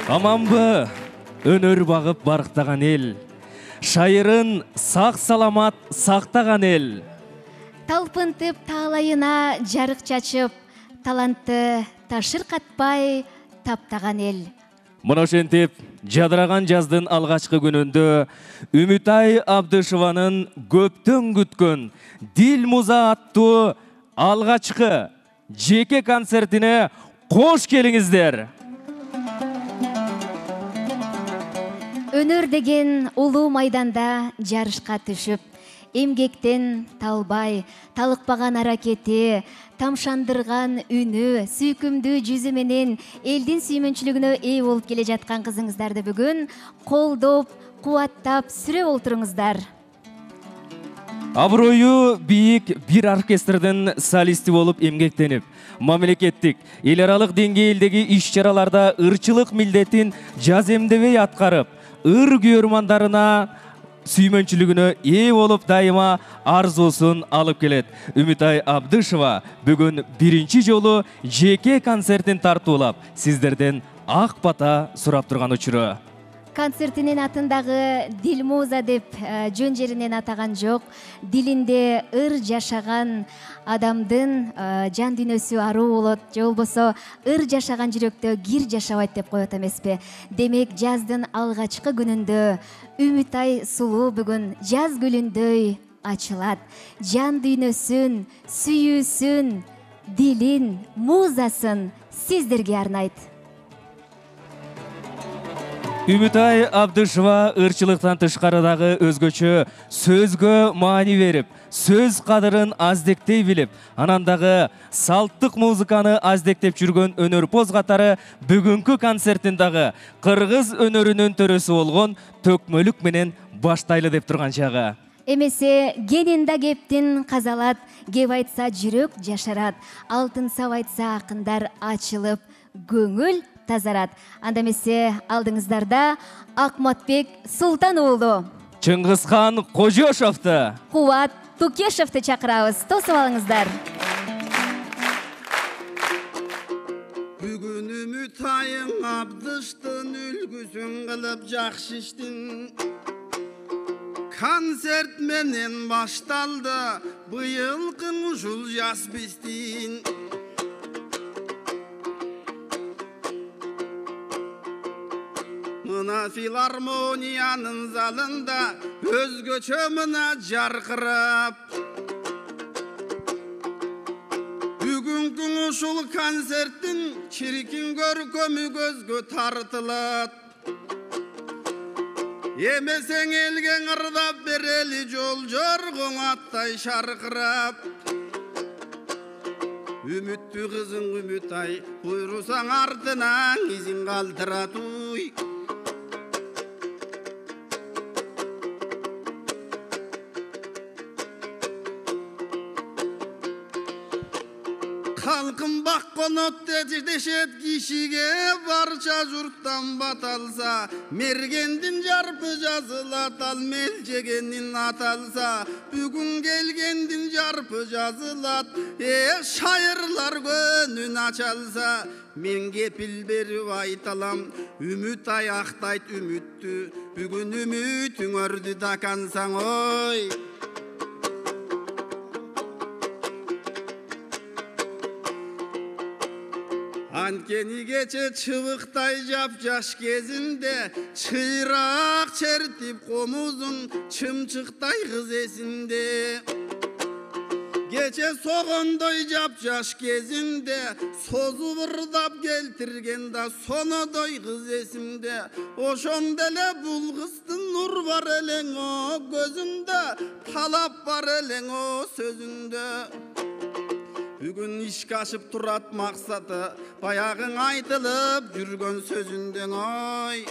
Аманбы өнөр багып барктаган эл, шайырын сак саламат сактаган эл. Талпынтып таалайына жарык чачып, талантты ташыр катпай таптаган эл. Мына ошентип, жадыраган жаздын алгачкы күнүндө Үмүтай Абдышеванын көптөн күткөн Дил муза аттуу алгачкы жеке концертине кош келиңиздер. Өнөр деген улуу майданда жарышка түшүп, эмгектен талбай, талыкпаган аракети, тамшандырган үнү, сүйкүмдүү жүзү менен элдин сүймөнчүлүгүнө ээ болуп келе жаткан кызыңыздарды бүгүн колдоп, кубаттап сүрөп олтуруңуздар. Аброю бийик бир оркестрдин солисти болуп эмгектенип, мамлекеттик, эл аралык деңгээлдеги иш-чараларда ырчылык милдетин жаземдебей аткарып, ыр күйөрмандарына сүймөнчүлүгүнө ээ болуп дайыма арзуусун алып келет. Үмүтай Абдышева бүгүн биринчи жолу жеке концертин тартуулап, сиздерден ак бата сурап турган учуру. Концертинин атын дагы Дил муза деп жөн жеринен атаган жок. Дилинде ыр жашаган адамдын жан дүйнөсү аруу болот, же болбосо ыр жашаган жүрөктө кир жашабайт деп коет эмеспи. Демек жаздын алгачкы күнүндө Үмүтай сулуу бүгүн жаз гүлүндөй ачылат. Жан дүйнөсүн, сүйүүсүн, дилин, музасын сиздерге арнайт. Үмүтай Абдышева ырчылыктан тышкары дагы өзгөчө сөзгө маани берип, сөз кадырын аздектей билип, анан дагы салттык музыканы аздектеп жүргөн өнөрпоз катары бүгүнкү концертин дагы кыргыз өнөрүнүн төрөсү болгон Төкмөлүк менен баштайлы деп турган чагы. Эмесе кенин да кептин казалат, кеп айтса жүрөк жашарат, алтын сап айтса акындар ачылып, көңүл тазарат. Анда эмесе алдыңыздарда Акматбек Султан уулу, Чыңгызхан Кожошовду, Кубат Тукешевди чакырабыз. Тосуп алыңыздар. Бүгүн Үмүтайың Абдыштын үлгүсүн кылып жакшы иштин. Концерт менен башталды быйылкы ушул жаз биздин. Мына филармониянын залында өзгөчө мына жаркырап. Бүгүнкү ушул концерттин чиркин көркөмү көзгө тартылат. Эмесең элге ырдап берели жол жоргоң аттай шаркырап. Үмүттүү кызың Үмүтай, буйрусаң артынан изин калтырат уй. Халкым бакконот дешет кишиге барча журттан баталса, мергендин жарпы жазылат, ал мелжегенин аталса, бүгүн келгендин жарпы жазылат, шайырлар көнүн ачалса, мен кепил берип айталам, Үмүтай актайт үмүттү, бүгүн үмүтүң өрдү дакансаң ой. Анткени кече чыбыктай жапжаш кезинде чыйрак чертип комузун чымчыктай кыз эсинде. Кече согондой жапжаш кезинде созуп ырдап келтирген да сонодой кыз эсимде. Ошондо эле бул кыздын нур бар элең о көзүндө, талап бар элең о сөзүндө. Бүгүн ишке ашып турат максаты, баягың айтылып жүргөн сөзүндөн ой.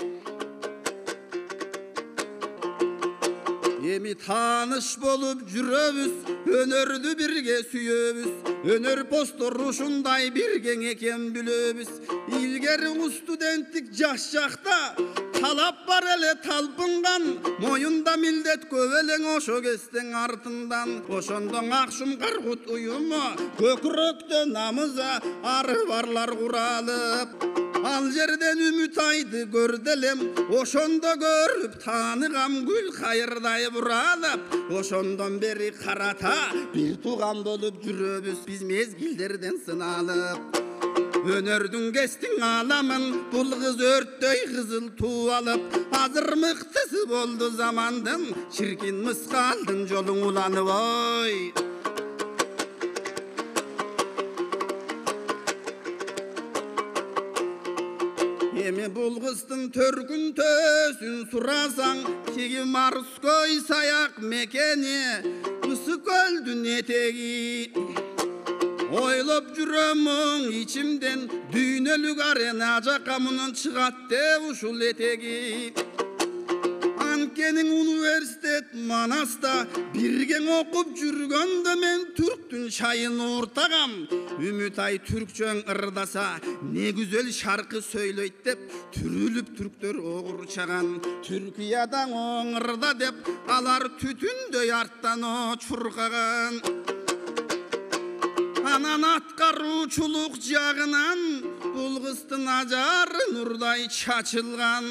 Эми тааныш болуп жүрөбүз, өнөрдү бирге сүйөбүз. Өнөр постор ушундай биргең экен билөбүз. Илгери студенттик жаш жакта талап бар эле талпынган, моюнда милдет көп элең ошо кестең артындан. Ошондон Акшум Каргут уюму көкүрөктө намыза ары барлар куралып. ал жерден Үмүтайды көрдүлем, ошондо көрүп тааныгам гүл кайырдай буралап, ошондон бери карата бир тууган болуп жүрөбүз биз мезгилдерден сыналып. Өнөрдүн кестиң аламын, бул кыз өрттөй кызыл туу алып, азыр мыктысы болду замандын, чиркин мыскалдын жолуң уланып ой. Эми бул кыздын төркүн төсүн сурасаң, тиги Морской саяк мекени, Ысык көлдүн этеги. Ойлоп жүрөм ичимден, дүйнөлүк арена жака мунун чыгат деп ушул этеги. Анткенин университет Манаста бирге окуп жүргөндө мен түрктүн чайын ууртагам. Үмүтай түркчөң ырдаса, не güzel шаркы сөйлөйт деп, түрүлүп түрктөр огурчаган. Түркиядан оңырда деп, алар түтүндөй арттан чуркаган. Анан аткаруучулук жагынан бул кыздын ажары нурдай чачылган.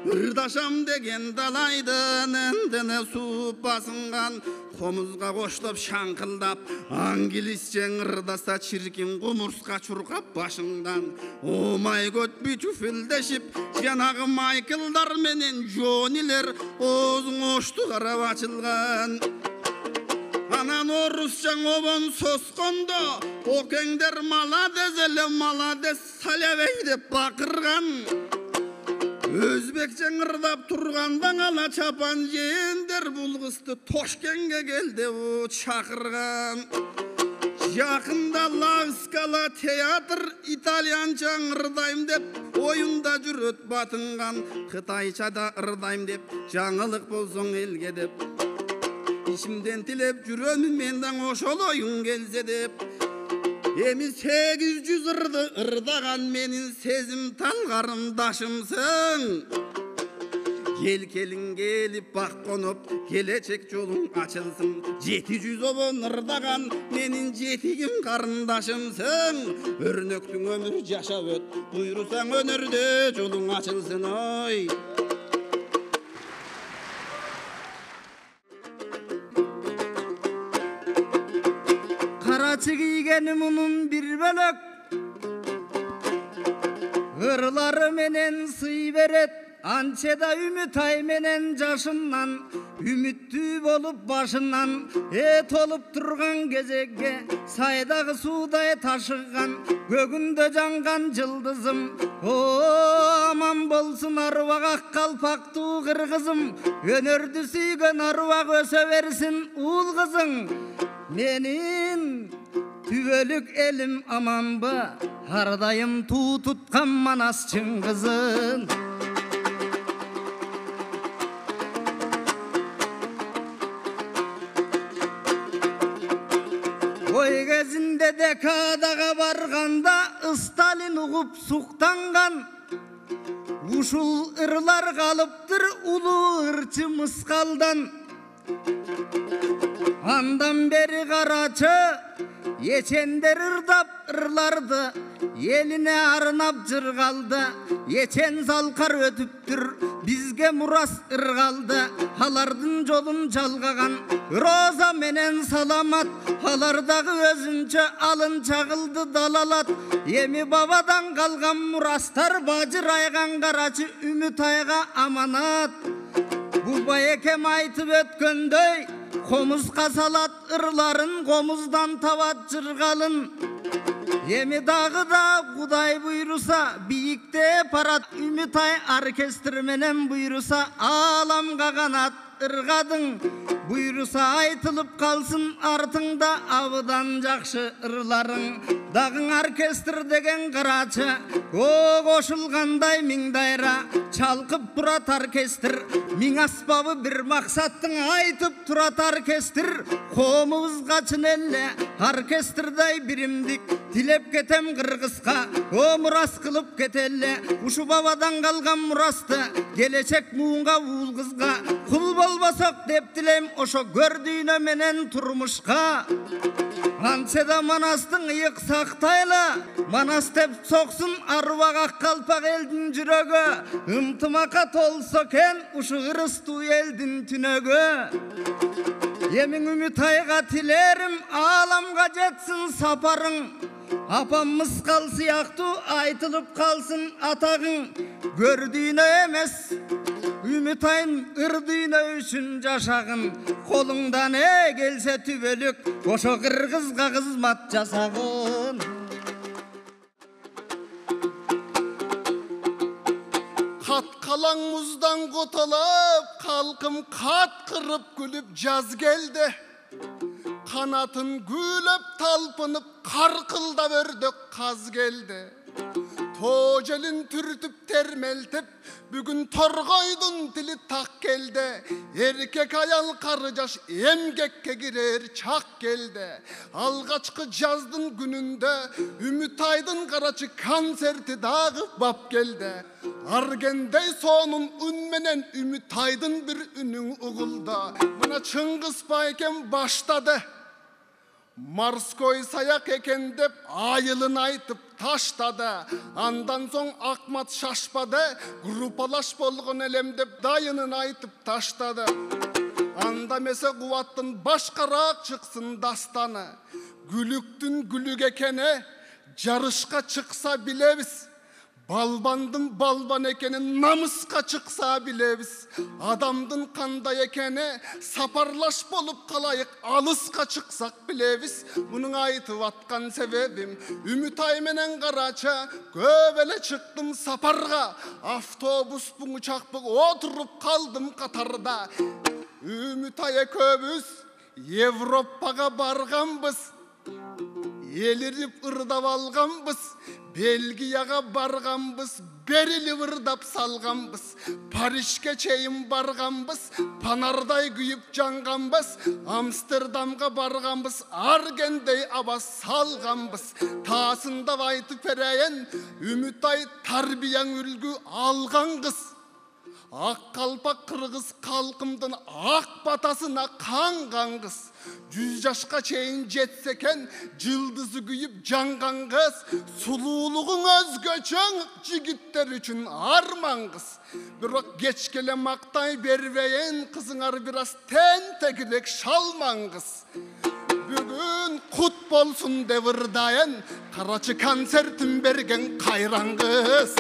Ырдашам деген далайдын эндене сууп басынган. Комузга коштоп шаңкылдап, англисче ырдаса чиркин кумурска чуркап башыңдан. О май гот бичуфилдешип, жанагы Майклдар менен Джонилер оозуң ошту карап ачылган. Анан орусча обон соскондо, океңдер маладес эле маладес салябей деп бакырган. Өзбекче ырдап турганда ала чапан жээндер бул кызды Тошкенге кел деп чакырган. Жакында Ла Скала театр итальянча ырдайм деп оюнда жүрөт батынган. Кытайчада ырдайм деп жаңылык болсоң элге деп. İçimden tilep жүрөмүн менден ошол оюн келсе деп. Эми 800 ырды ырдаган менин сезим талгарымдашымсың. Келин келип бак коноп, келечек жолуң ачылсын. 700 обон ырдаган менин жетигим карындашымсың. Өрнөктүң өмүр жашап өт, буйрусаң өнөрдө жолуң ачылсын ой. Карачы кийгени мунун бир бөлөк, ырлары менен сый берет. Анчеда Үмүтай менен жашынан, үмүттүү болуп башынан, толуп турган кезекке сайдагы суудай ташыган, көгүндө жанган жылдызым. О аман болсун аруак ак калпактуу кыргызым, өнөрдү сүйгөн аруак өсө берсин уул кызың. Менин түбөлүк элим аманбы, ар дайым туу туткан Манас Чыңгызын. Ой кезинде декадага барганда Сталин угуп суктанган. Ушул ырлар калыптыр улуу ырчы мыскалдан. Андан бери карачы ечендер ырдап ырларды, элине арнап жыргалды. Ечен салкар өтүптүр, бизге мурас ыргалды. Алардын жолун жалгаган Роза менен Саламат, алардагы өзүнчө алын чагылды далалат. Эми бабадан калган мурастар бажырайган карачы Үмүтайга аманат. Бу байекем айтып өткөндөй, комузга салат ырларын, комуздан табат жыргалын. Эми дагы да Кудай буйруса, бийикте парат Үмүтай оркестр менен буйруса, ааламга канат ыргадың. Буйруса айтылып калсын артыңда абыдан жакшы ырларың. Дагың оркестр деген карачы, о кошулгандай миң дайра, чалкып турат оркестр. Миң аспабы бир максаттың айтып турат оркестр. Комубузга чын эле оркестрдай биримдик тилеп кетем кыргызга, о мурас кылып кетеле. Ушу бабадан калган мурасты келечек муунга уул кызга. Кул албасак деп тилейм ошо көрдүйнө менен турмушка. Антсе да Манастың ыйык сактайла, Манас деп соксун арбак ак калпак элдин жүрөгү, ынтымакка толсо экен ушу ырыстуу элдин түнөгү. Эмиң Үмүтайга тилерим, ааламга жетсин сапарың, апам мыскал сыяктуу айтылып калсын атагың. Көрдүйнө эмес Үмүтайым ырдүйнө үчүн жашагын, колуңдан келсе түбөлүк ошо кыргызга кызмат жасагын. Кат калаң муздан котолуп, калкым каткырып күлүп жаз келди. Канатын күлөп талпынып, каркылдап өрдөк каз келди. Тоо желин түртүп термелтип, бүгүн торгойдун тили так келди. Эркек аял кары жаш эмгекке кирер чак келди. Алгачкы жаздын күнүндө Үмүтайдын карачы концерти дагы бап келди. Аргендей сонун үн менен Үмүтайдын бир үнүң угулду. Мына Чыңгыз байкем баштады. Морской саяк экен деп айылын айтып таштады. Андан соң Акмат шашпады, группалаш болгон элем деп дайынын айтып таштады. Анда месе Кубаттын башкараак чыксын дастаны. Күлүктүн күлүк экени жарышка чыкса билебиз. Балбандын балбан экенин намыска чыкса билебиз. Адамдын кандай экени сапарлаш болуп калайык, алыска чыксак билебиз. Мунун айтып аткан себебим Үмүтай менен Карачы көп эле чыктым сапарга. Автобуспун учакпын отуруп калдым катарда. Үмүтай экөөбүз Европага барганбыз. Элирип ырдап алганбыз, Бельгияга барганбыз, берилип ырдап салганбыз. Парижге чейин барганбыз, панардай күйүп жанганбыз. Амстердамга барганбыз, аргендей аба салганбыз. Таасындап айтып берейин, Үмүтай тарбияң үлгү алган кыз. Ак калпак кыргыз калкымдын ак батасына канган кыз. 100 жашка чейин жетсе экен жылдызы күйүп жанган кыз. Сулуулугуң өзгөчө жигиттер үчүн арман кыз. Бирок кечке эле мактай бербейин, кызыңар бир аз тентегилек шалман кыз. Бүгүн кут болсун деп ырдайын, Карачы концертин берген кайран кыз.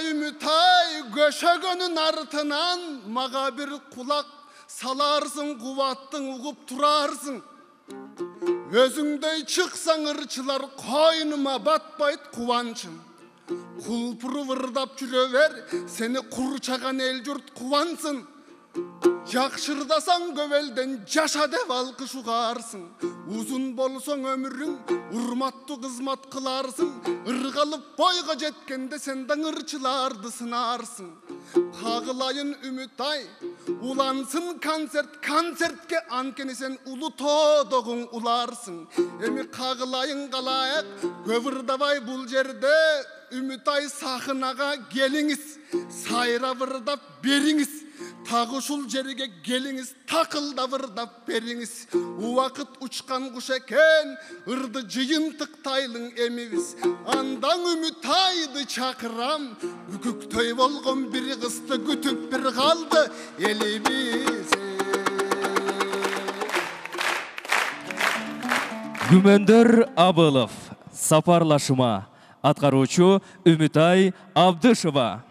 Үмүтай көшөгөнүн артынан мага бир кулак саларсың, Кубаттың угуп турарсың. Өзүңдөй чыксаң ырчылар койнума батпайт кубанчым. Кулпуруп ырдап жүрө бер, сени курчаган эл журт кубансын. Жакшырдасаң көп элден жаша деп алкыш угарсың. Узун болсоң өмүрүң, урматтуу кызмат кыларсың. Ыргалып бойго жеткенде сен да ырчыларды сынарсың. Кагылайын Үмүтай, улансын концертке анткени сен улуу тоодогуң уларсың. Эми кагылайын калайык, көп ырдабай бул жерде Үмүтай сахнага келиңиз, сайрап ырдап бериңиз. Тагы ушул жерге келиңиз, такылдап ырдап бериңиз. Убакыт учкан куш экен, ырды жыйынтыктайлың эмибиз. Андан Үмүтайды чакырам, үкүктөй болгон бир кызды күтүп бир калды элибиз. Күмөндөр Абылов, сапарлашыма, аткаруучу Үмүтай Абдышева.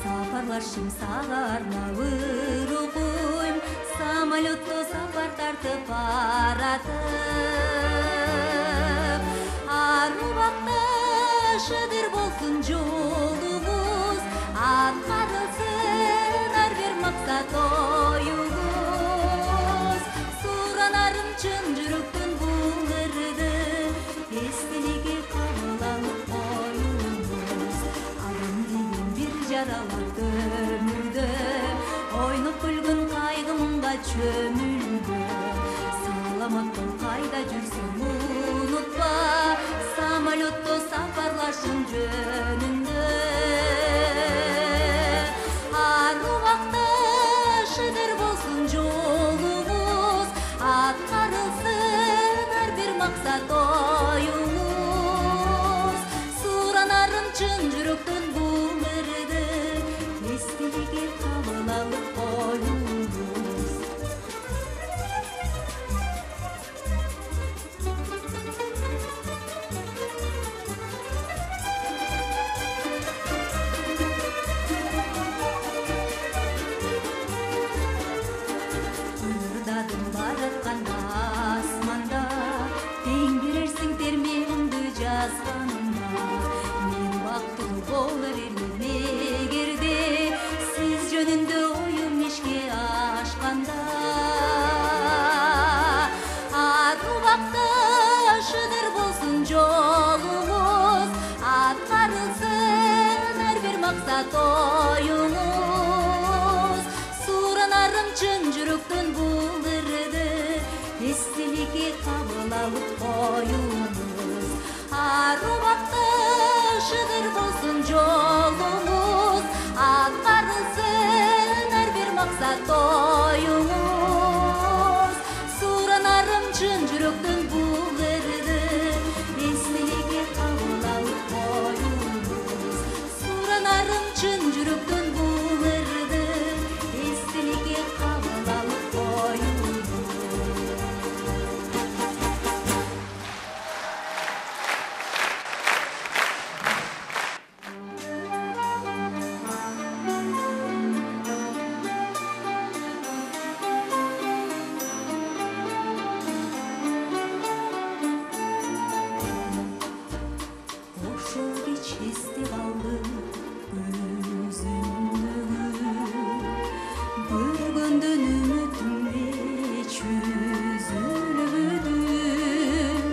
Сапарлашым сагарма ырукуйм, самолетто сапар тартып баратып. Арубакта шыдыр болсун жолубуз, эстеликке кабыл алып коюңуз. Адам деген бир жараларды өмүрдө, ойноп күлгүн кайгы мынга чөмүлдө. Саламаттың кайда жүрсөң унутпа, самолетто сапарлашым жөнүндө. Ар убакта шыдыр болсун жолуңуз, аткарылсын ар бир максат оюңуз. Суранарым чын жүрөктөн бул ырды, эстеликке кабыл алып коюңуз. Ырдадым баратканда асманда, тең берерсиң термеңди жазганда. Мен бактылуу болор элем эгерде сиз жөнүндө оюм ишке ашканда. Ар убакта шыдыр болсун жолуңуз, аткарылсын ар бир максат оюңуз. Суранарым чын жүрөктөн бул ырды, эстеликке кабыл алып коюңуз. Ар убакта шыдыр болсун жолуңуз, аткарылсын ар бир максат оюңуз. Суранарым чын жүрөктөн бул ырды, эстеликке кабыл алып коюңуз. Суранарым чын жүрөктөн бул ырды, эстеликке кабыл алып коюңуз. Ошол кеч эсте калдым өзүмдөгү, көргөндөн үмүтүмдү чөзүлбөдүм.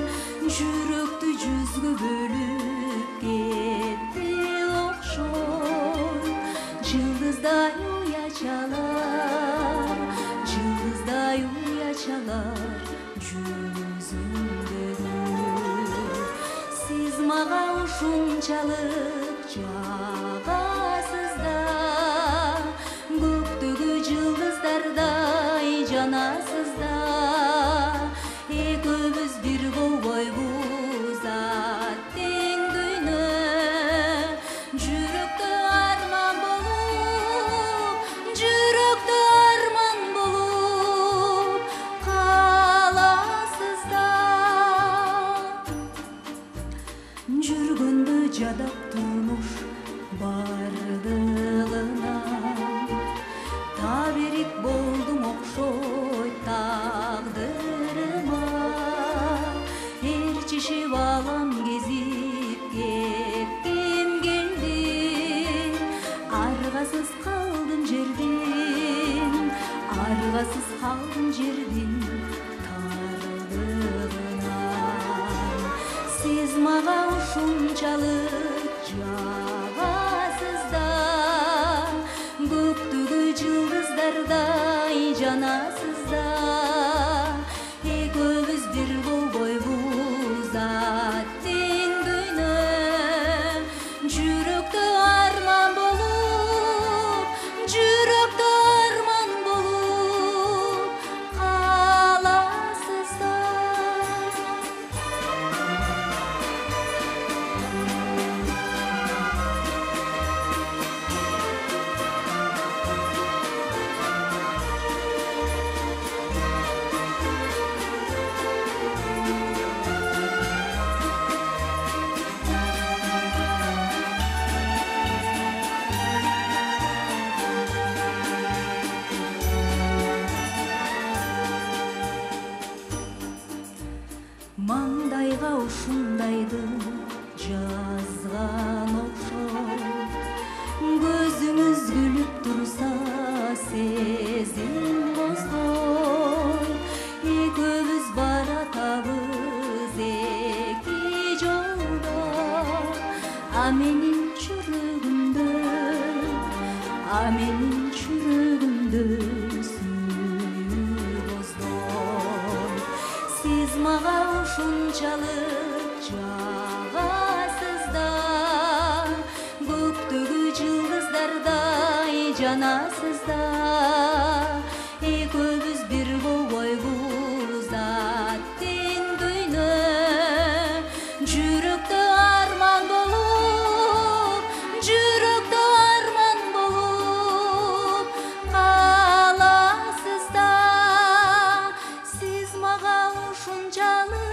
Жүрөктү жүзгө бөлүп кетти окшой, жылдыздай уячалар, жылдыздай уячалар жүзүмдөгү. Сиз мага ушунчалык жагасыз да, көктөгү жылдыздардай жанасыз да. Экөөбүз бир болбойбуз тең дүйнө, жүрөктө арман болуп, жүрөктө арман болуп каласыз да. Жүргөндө жадап турмуш бардыгына, табирик болдум окшойт тагдырыма. Ээрчишип алам кезип кетким келди, аргасыз калдым жердин, аргасыз калдым жердин тардыгынан. Сиз мага ушунчалык жагасыз да, көктөгү жылдыздардай жанасыз да. Экөөбүз бир болбойбуз тең дүйнө, жүрөктө арман болуп, жүрөктө арман болуп каласыз да. менин жүрөгүмдө сүйүү боздон сиз мага ушунчалык жагасыз да көктөгү жылдыздардай жанасыз да экөөбүз бир болбойбуз аттен дүйнө жүрөктө арман болуп каласыз да сиз мага ушунчалык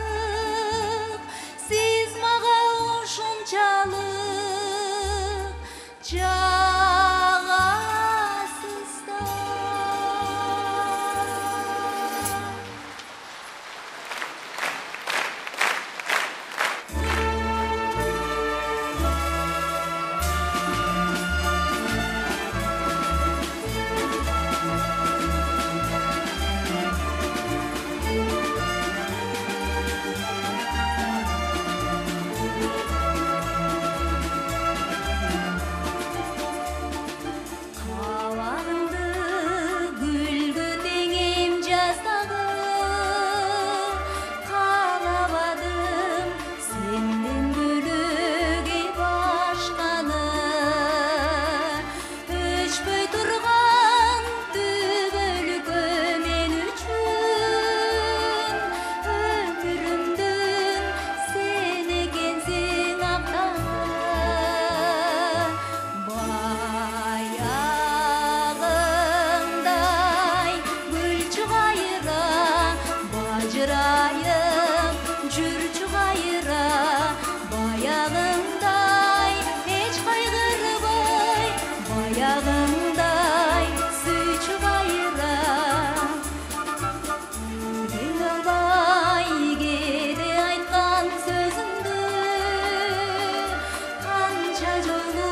жагасыз да. Кабагыңды гүлгө теңейм жаздагы каалабадым сенден бөлөк башканы өчпөй турган түбөлүккө мен үчүн өмүрүмдүн сен экенсиң актагы баягындай гүл чугайра бажырайып жүрчү кайра баягындай эч кайгырбай баягындай сүйчү кайра келе албай кээде айткан сөзүңдү канча жолу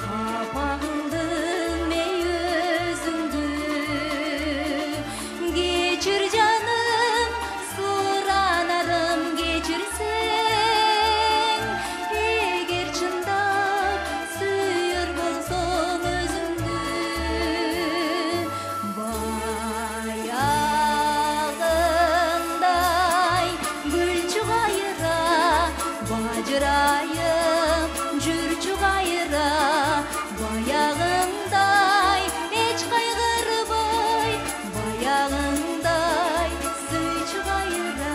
капагылдың мейөзүңдү кечир жаным суранарым кечирсең эгер чындап сүйөр болсоң өзүңдү баягындай гүл чугайра бажырайып жүрчү кайра баягындай эч кайгырбай баягындай сүйчү кайра.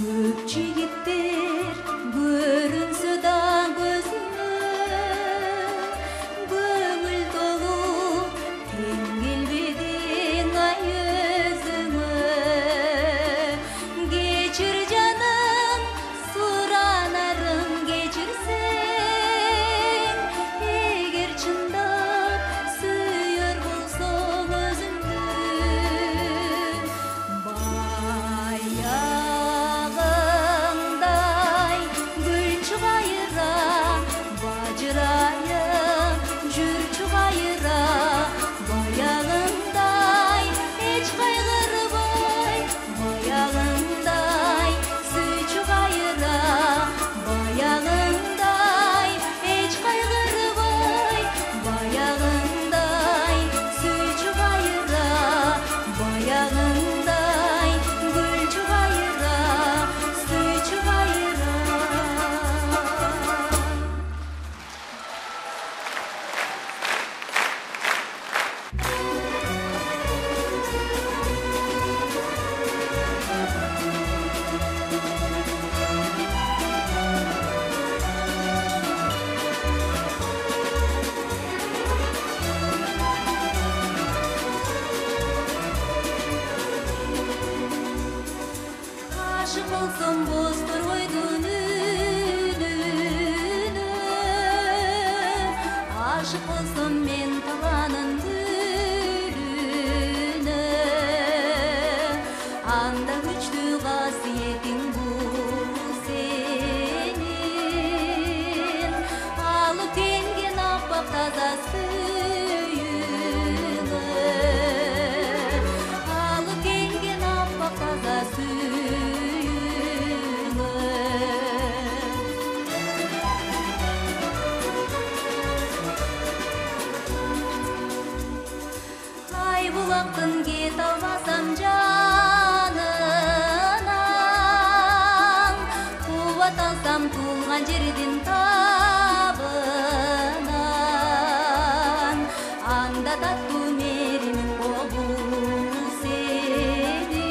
Көп жигиттер көрүнсө да көзүмө көңүл толуп тең келбедиң ай өзүңө кечир жаным суранарым кечирсең эгер чындап сүйөр болсоң өзүңдү баягындай гүл чугайра бажырайып жүрчү кайра баягындай эч кайгырбай баягындай сүйчү кайра баягындай эч кайгырбай баягындай сүйчү кайра баягындай гүл чугайра сүйчү кайра. Ашык болсом боздор койдун үнүнө ашык болсом мен табанын гүлүнө анда күчтүү жердин табынан анда таттуу меримиң болуу сенин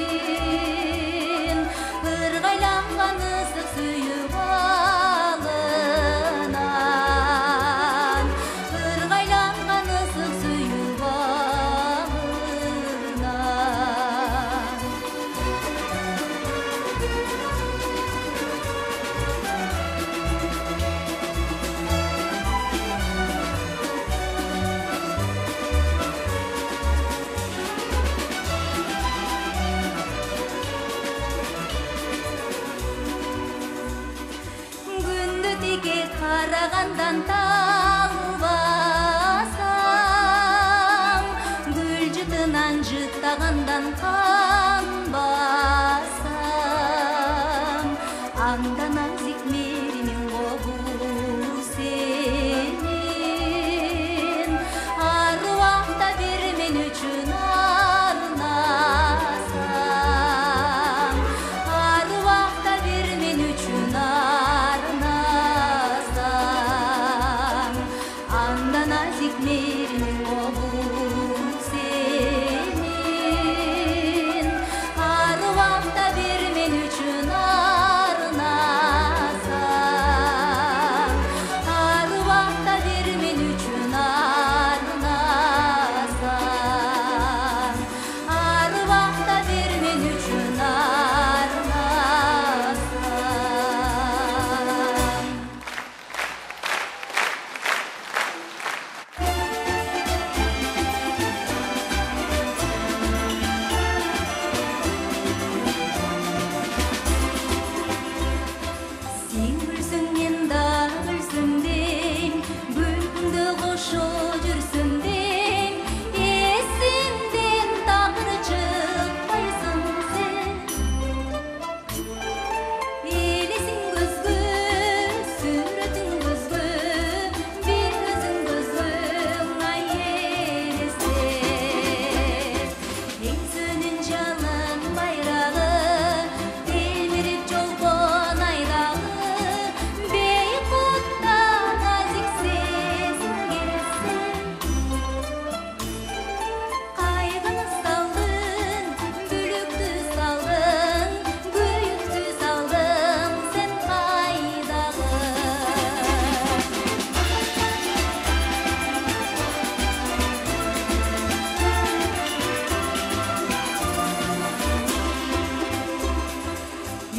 ыргайланган ысык сүйүп алынан ыргайланган ысык сүйүп алынан күндү тике карагандан талбасам гүл жытынан жыттагандан канбасам анда назик меримиң болуу сенин ар убакта бир мен үчүн арнасаң ар убакта бир мен үчүн арнасаң анда назик меримиң болуу сенин ар убакта бир мен үчүн арнасаң ар убакта бир мен үчүн арнасаң ар убакта бир мен үчүн арнасаң. Сен күлсөң мен да күлсөм дең күлкүңдө кошо жүрсөм дең эсимден такыр чыкпайсың сен элесиң көзгө сүрөтүң көзгө бир өзүң көзгөң ай элестет эңсөнүн жалын байрагы телмирип жолбон айдагы бейкутта назик сезим келсе кайгыны салдың бүлүктү салдың күйүктү салдың сен кайдагы.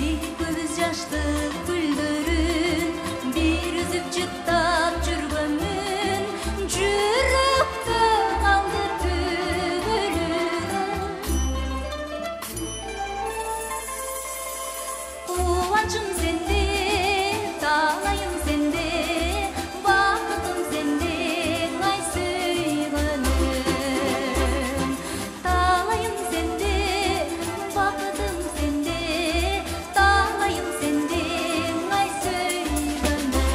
Экөөбүз жаштык гүлдөрүн бир үзүп жыттап жүргөнмүн жүрөктө калды түбөлүгү кубанычым сенде талайым сенде бакытым сенде ай сүйгөнүм талайым сенде бакытым сенде талайым сенде ай сүйгөнүм.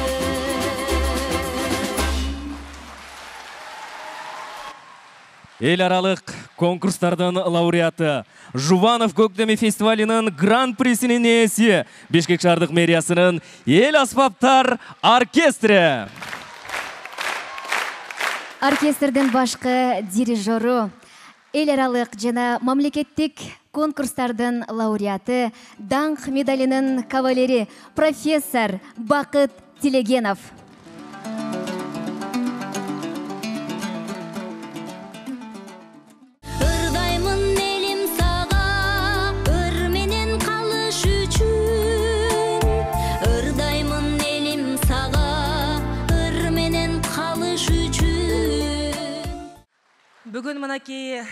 Эл аралык конкурстардын лауреаты, Жубанов Көктеми фестивалинин гран-присинин ээси, Бишкек шаардык мэриясынын Эл аспаптар оркестри. Оркестрдин башкы дирижеру, эл аралык жана мамлекеттик конкурстардын лауреаты, даңк медалинин кавалери, профессор Бакыт Тилегенов. Ырдаймын элим сага ыр менен калыш үчүн ырдаймын элим сага ыр менен калыш үчүн. Бүгүн мынакей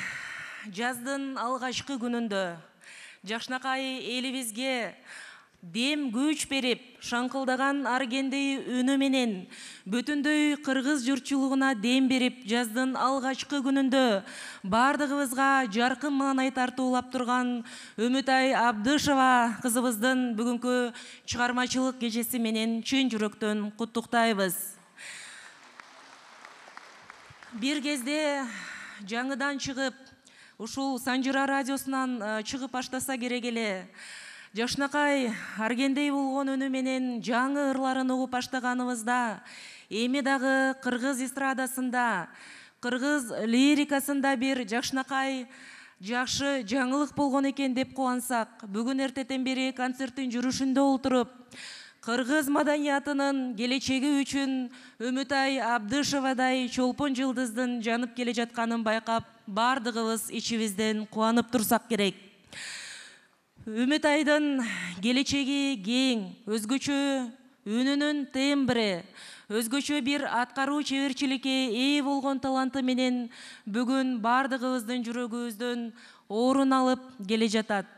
жаздын алгачкы күнүндө жакшынакай элибизге дем күч берип шаңкылдаган аргендей үнү менен бүтүндөй кыргыз журтчулугуна дем берип жаздын алгачкы күнүндө бардыгыбызга жаркын маанай тартуулап турган Үмүтай Абдышева кызыбыздын бүгүнкү чыгармачылык кечеси менен чын жүрөктөн куттуктайбыз. Бир кезде жаңыдан чыгып ушул Санжыра радиосунан чыгып баштаса керек эле. Жашнакай аргендей болгон үнү менен жаңы ырларын угуп баштаганыбызда, эми дагы кыргыз эстрадасында, кыргыз лирикасында бир Жашнакай жакшы жаңылык болгон экен деп кубансак, бүгүн эртеден бери концерттин жүрүшүндө отуруп, кыргыз маданиятынын келечеги үчүн Үмүтай Абдышевадай чолпон жылдыздын жанып келе жатканын байкап, бардыгыбыз ичибизден кубанып турсак керек. Үмүтайдын келечеги кең, өзгөчө үнүнүн тембри, өзгөчө бир аткаруу чеберчиликке ээ болгон таланты менен бүгүн бардыгыбыздын жүрөгүбүздөн орун алып келе жатат.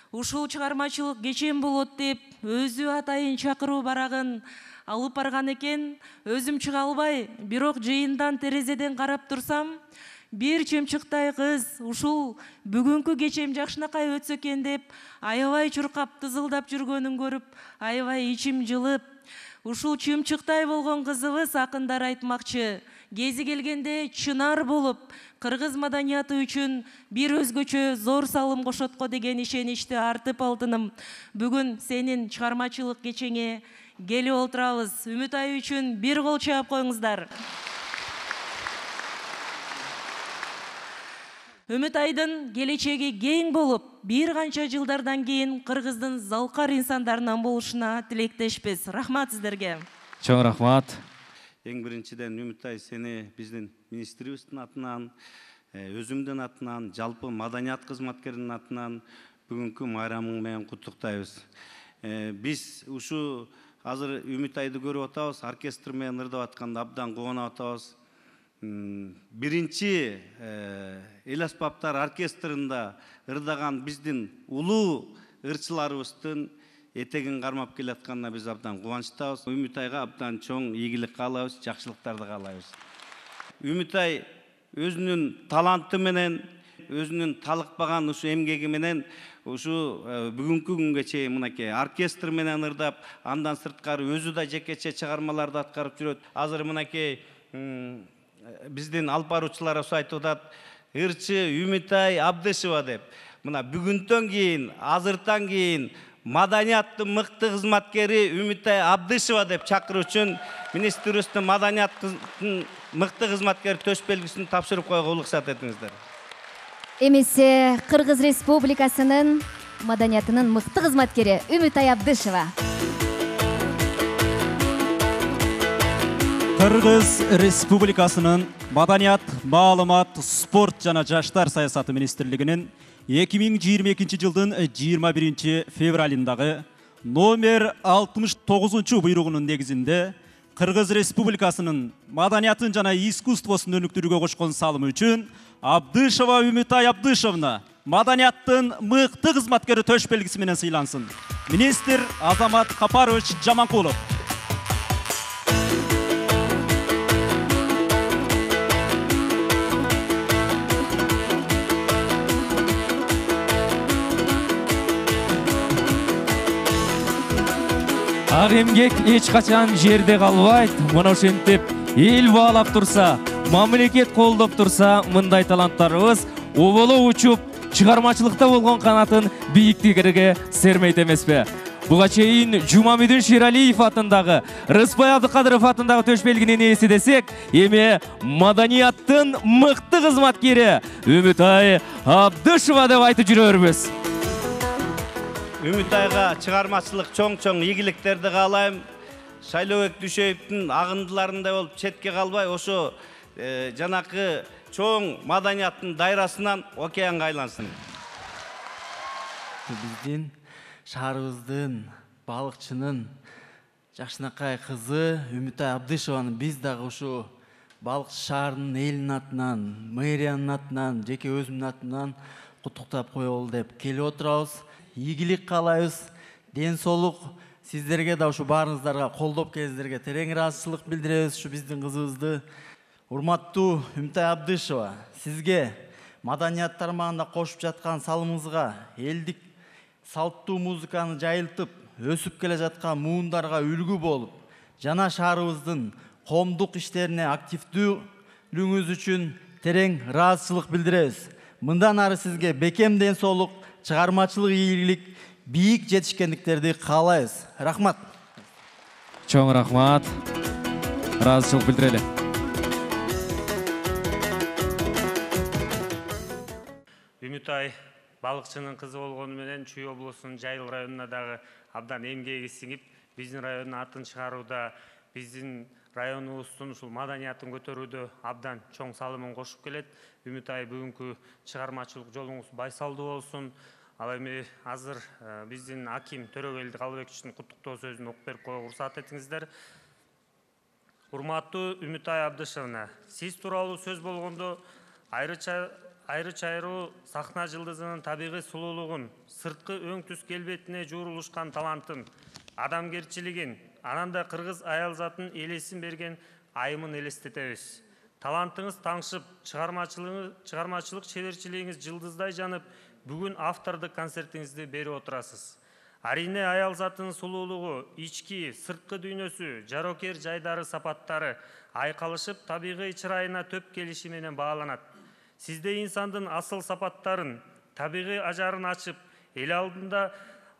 Ушул чыгармачылык кечен болот деп өзү атайын чакыруу барагын алып барган экен. Өзүм чыга албай, бирок жыйындан терезеден карап турсам, бир чымчыктай кыз ушул бүгүнкү кечем Жакшынакай өтсө экен деп аябай чуркап тызылдап жүргөнүн көрүп, аябай ичим жылып, ушул чымчыктай болгон кызыбыз акындар айтмакчы, кези келгенде чынар болуп, кыргыз маданияты үчүн бир өзгөчө зор салым кошот го деген ишеничти артып алдым. Бүгүн сенин чыгармачылык кечеңе келип отурабыз. Үмүтай үчүн бир кол чаап коюңуздар. Үмүтайдын келечеги кең болуп, бир канча жылдардан кийин кыргыздын залкар инсандарынан болушуна тилектешпиз. Рахмат сиздерге. Чоң рахмат. Эң биринчиден Үмүтай сени биздин министрибиздин атынан, өзүмдүн атынан, жалпы маданият кызматкеринин атынан бүгүнкү майрамың менен куттуктайбыз. Биз ушу азыр Үмүтайды көрүп атабыз, оркестр менен ырдап атканда абдан кубанып атабыз. Биринчи эл аспаптар оркестринда ырдаган биздин улуу ырчыларыбыздын этегин кармап келатканына биз абдан кубанычтабыз. Үмүтайга абдан чоң ийгилик каалайбыз, жакшылыктарды каалайбыз. Үмүтай өзүнүн таланты менен, өзүнүн талыкпаган ушу эмгеги менен ушу бүгүнкү күнгө чейин мынакей оркестр менен ырдап, андан сырткары өзү да жекече чыгармаларды аткарып жүрөт. Азыр мынакей биздин алып баруучуларыбыз айтып атат, ырчы Үмүтай Абдышева деп. Мына бүгүндөн кийин, азыртан кийин маданияттын мыкты кызматкери Үмүтай Абдышева деп чакыруу үчүн министрибиздин маданияттын мыкты кызматкери төш белгисин тапшырып коюуга уруксат этиңиздер. Эмесе Кыргыз Республикасынын маданиятынын мыкты кызматкери Үмүтай Абдышева. Кыргыз Республикасынын Маданият, маалымат, спорт жана жаштар саясаты министрлигинин 2022 жылдын 21 февралындагы номер 69 буйругунун негизинде Кыргыз Республикасынын маданиятын жана искусствосун өнүктүрүүгө кошкон салымы үчүн Абдышева Үмүтай Абдышевна маданияттын мыкты кызматкери төш белгиси менен сыйлансын. Министр Азамат Капарович Жаманкулов. Ак эмгек эч качан жерде калбайт. Мына ошентип эл баалап турса, мамлекет колдоп турса, мындай таланттарыбыз оболо учуп, чыгармачылыкта болгон канатын бийиктиктерге сермейт эмеспи? Буга чейин Жумамидин Ширалиев атындагы, Рыспай Абдыкадыров атындагы төш белгинин ээси десек, эми маданияттын мыкты кызматкери Үмүтай Абдышева деп айтып жүрөрбүз. Үмүтайга чыгармачылык чоң-чоң ийгиликтерди каалайм. Шайлообек Дүйшөевдин агындыларындай болуп четке калбай, ошо жанакы чоң маданияттын дайрасынан океанга айлансын. Биздин шаарыбыздын балыкчынын Жакшынакай кызы Үмүтай Абдышеваны биз дагы ушу балыкчы шаарынын элинин атынан, мэриянын атынан, жеке өзүмдүн атынан куттуктап коелу деп келип отурабыз. Ийгилик каалайбыз, ден соолук сиздерге да ушу баарыңыздарга колдоп келиңиздерге терең ыраазычылык билдиребиз. Ушу биздин кызыбызды. Урматтуу Үмүтай Абдышева, сизге маданият тармагында кошуп жаткан салымыңызга, элдик салттуу музыканы жайылтып, өсүп келе жаткан муундарга үлгү болуп, жана шаарыбыздын коомдук иштерине активдүүлүгүңүз үчүн терең ыраазычылык билдиребиз. Мындан ары сизге бекем ден соолук, чыгармачылык ийгилик, бийик жетишкендиктерди каалайбыз. Рахмат. Чоң рахмат. Ыраазычылык билдирели. Үмүтай балыкчынын кызы болгону менен Чүй облусунун Жайыл районуна дагы абдан эмгеги сиңип, биздин райондун атын чыгарууда, биздин районубуздун ушул маданиятын көтөрүүдө абдан чоң салымын кошуп келет. Үмүтай бүгүнкү чыгармачылык жолуңуз байсалдуу болсун. Ал эми азыр биздин аким Төрөгелди Калыбековичтин куттуктоо сөзүн окуп берип коюуга уруксат этиңиздер. Урматтуу Үмүтай Абдышевна, сиз тууралуу сөз болгондо айры чайруу сахна жылдызынын табигый сулуулугун, сырткы өң түс келбетине жуурулушкан талантын, адамгерчилигин, анан да кыргыз аял затын элесин берген айымын элестетебиз. Талантыңыз таңшып, чыгармачылык чеберчилигиңиз жылдыздай жанып, бүгүн автордук концертиңизди берип отурасыз. Арине аял затынын сулуулугу, ички, сырткы дүйнөсү, жарокер жайдары сапаттары айкалышып, табигый чырайына төп келиши менен бааланат. Сизде инсандын асыл сапаттарын, табигый ажарын ачып, эл алдында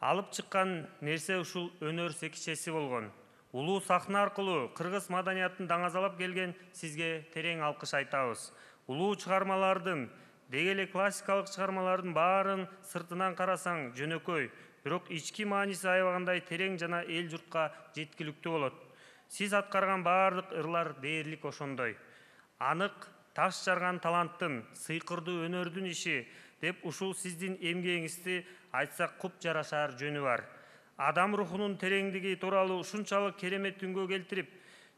алып чыккан нерсе ушул өнөр секичеси болгон. Улуу сахна аркылуу кыргыз маданиятын даңазалап келген сизге терең алкыш айтабыз. Улуу чыгармалардын, деги эле классикалык чыгармалардын баарын сыртынан карасаң жөнөкөй, бирок ички мааниси аябагандай терең жана эл журтка жеткиликтүү болот. Сиз аткарган баардык ырлар дээрлик ошондой. Анык, таш жарган таланттын, сыйкырдуу өнөрдүн иши деп ушул сиздин эмгегиңизди айтсак куп жарашаар жөнү бар. Адам рухунун тереңдиги тууралуу ушунчалык керемет үнгө келтирип,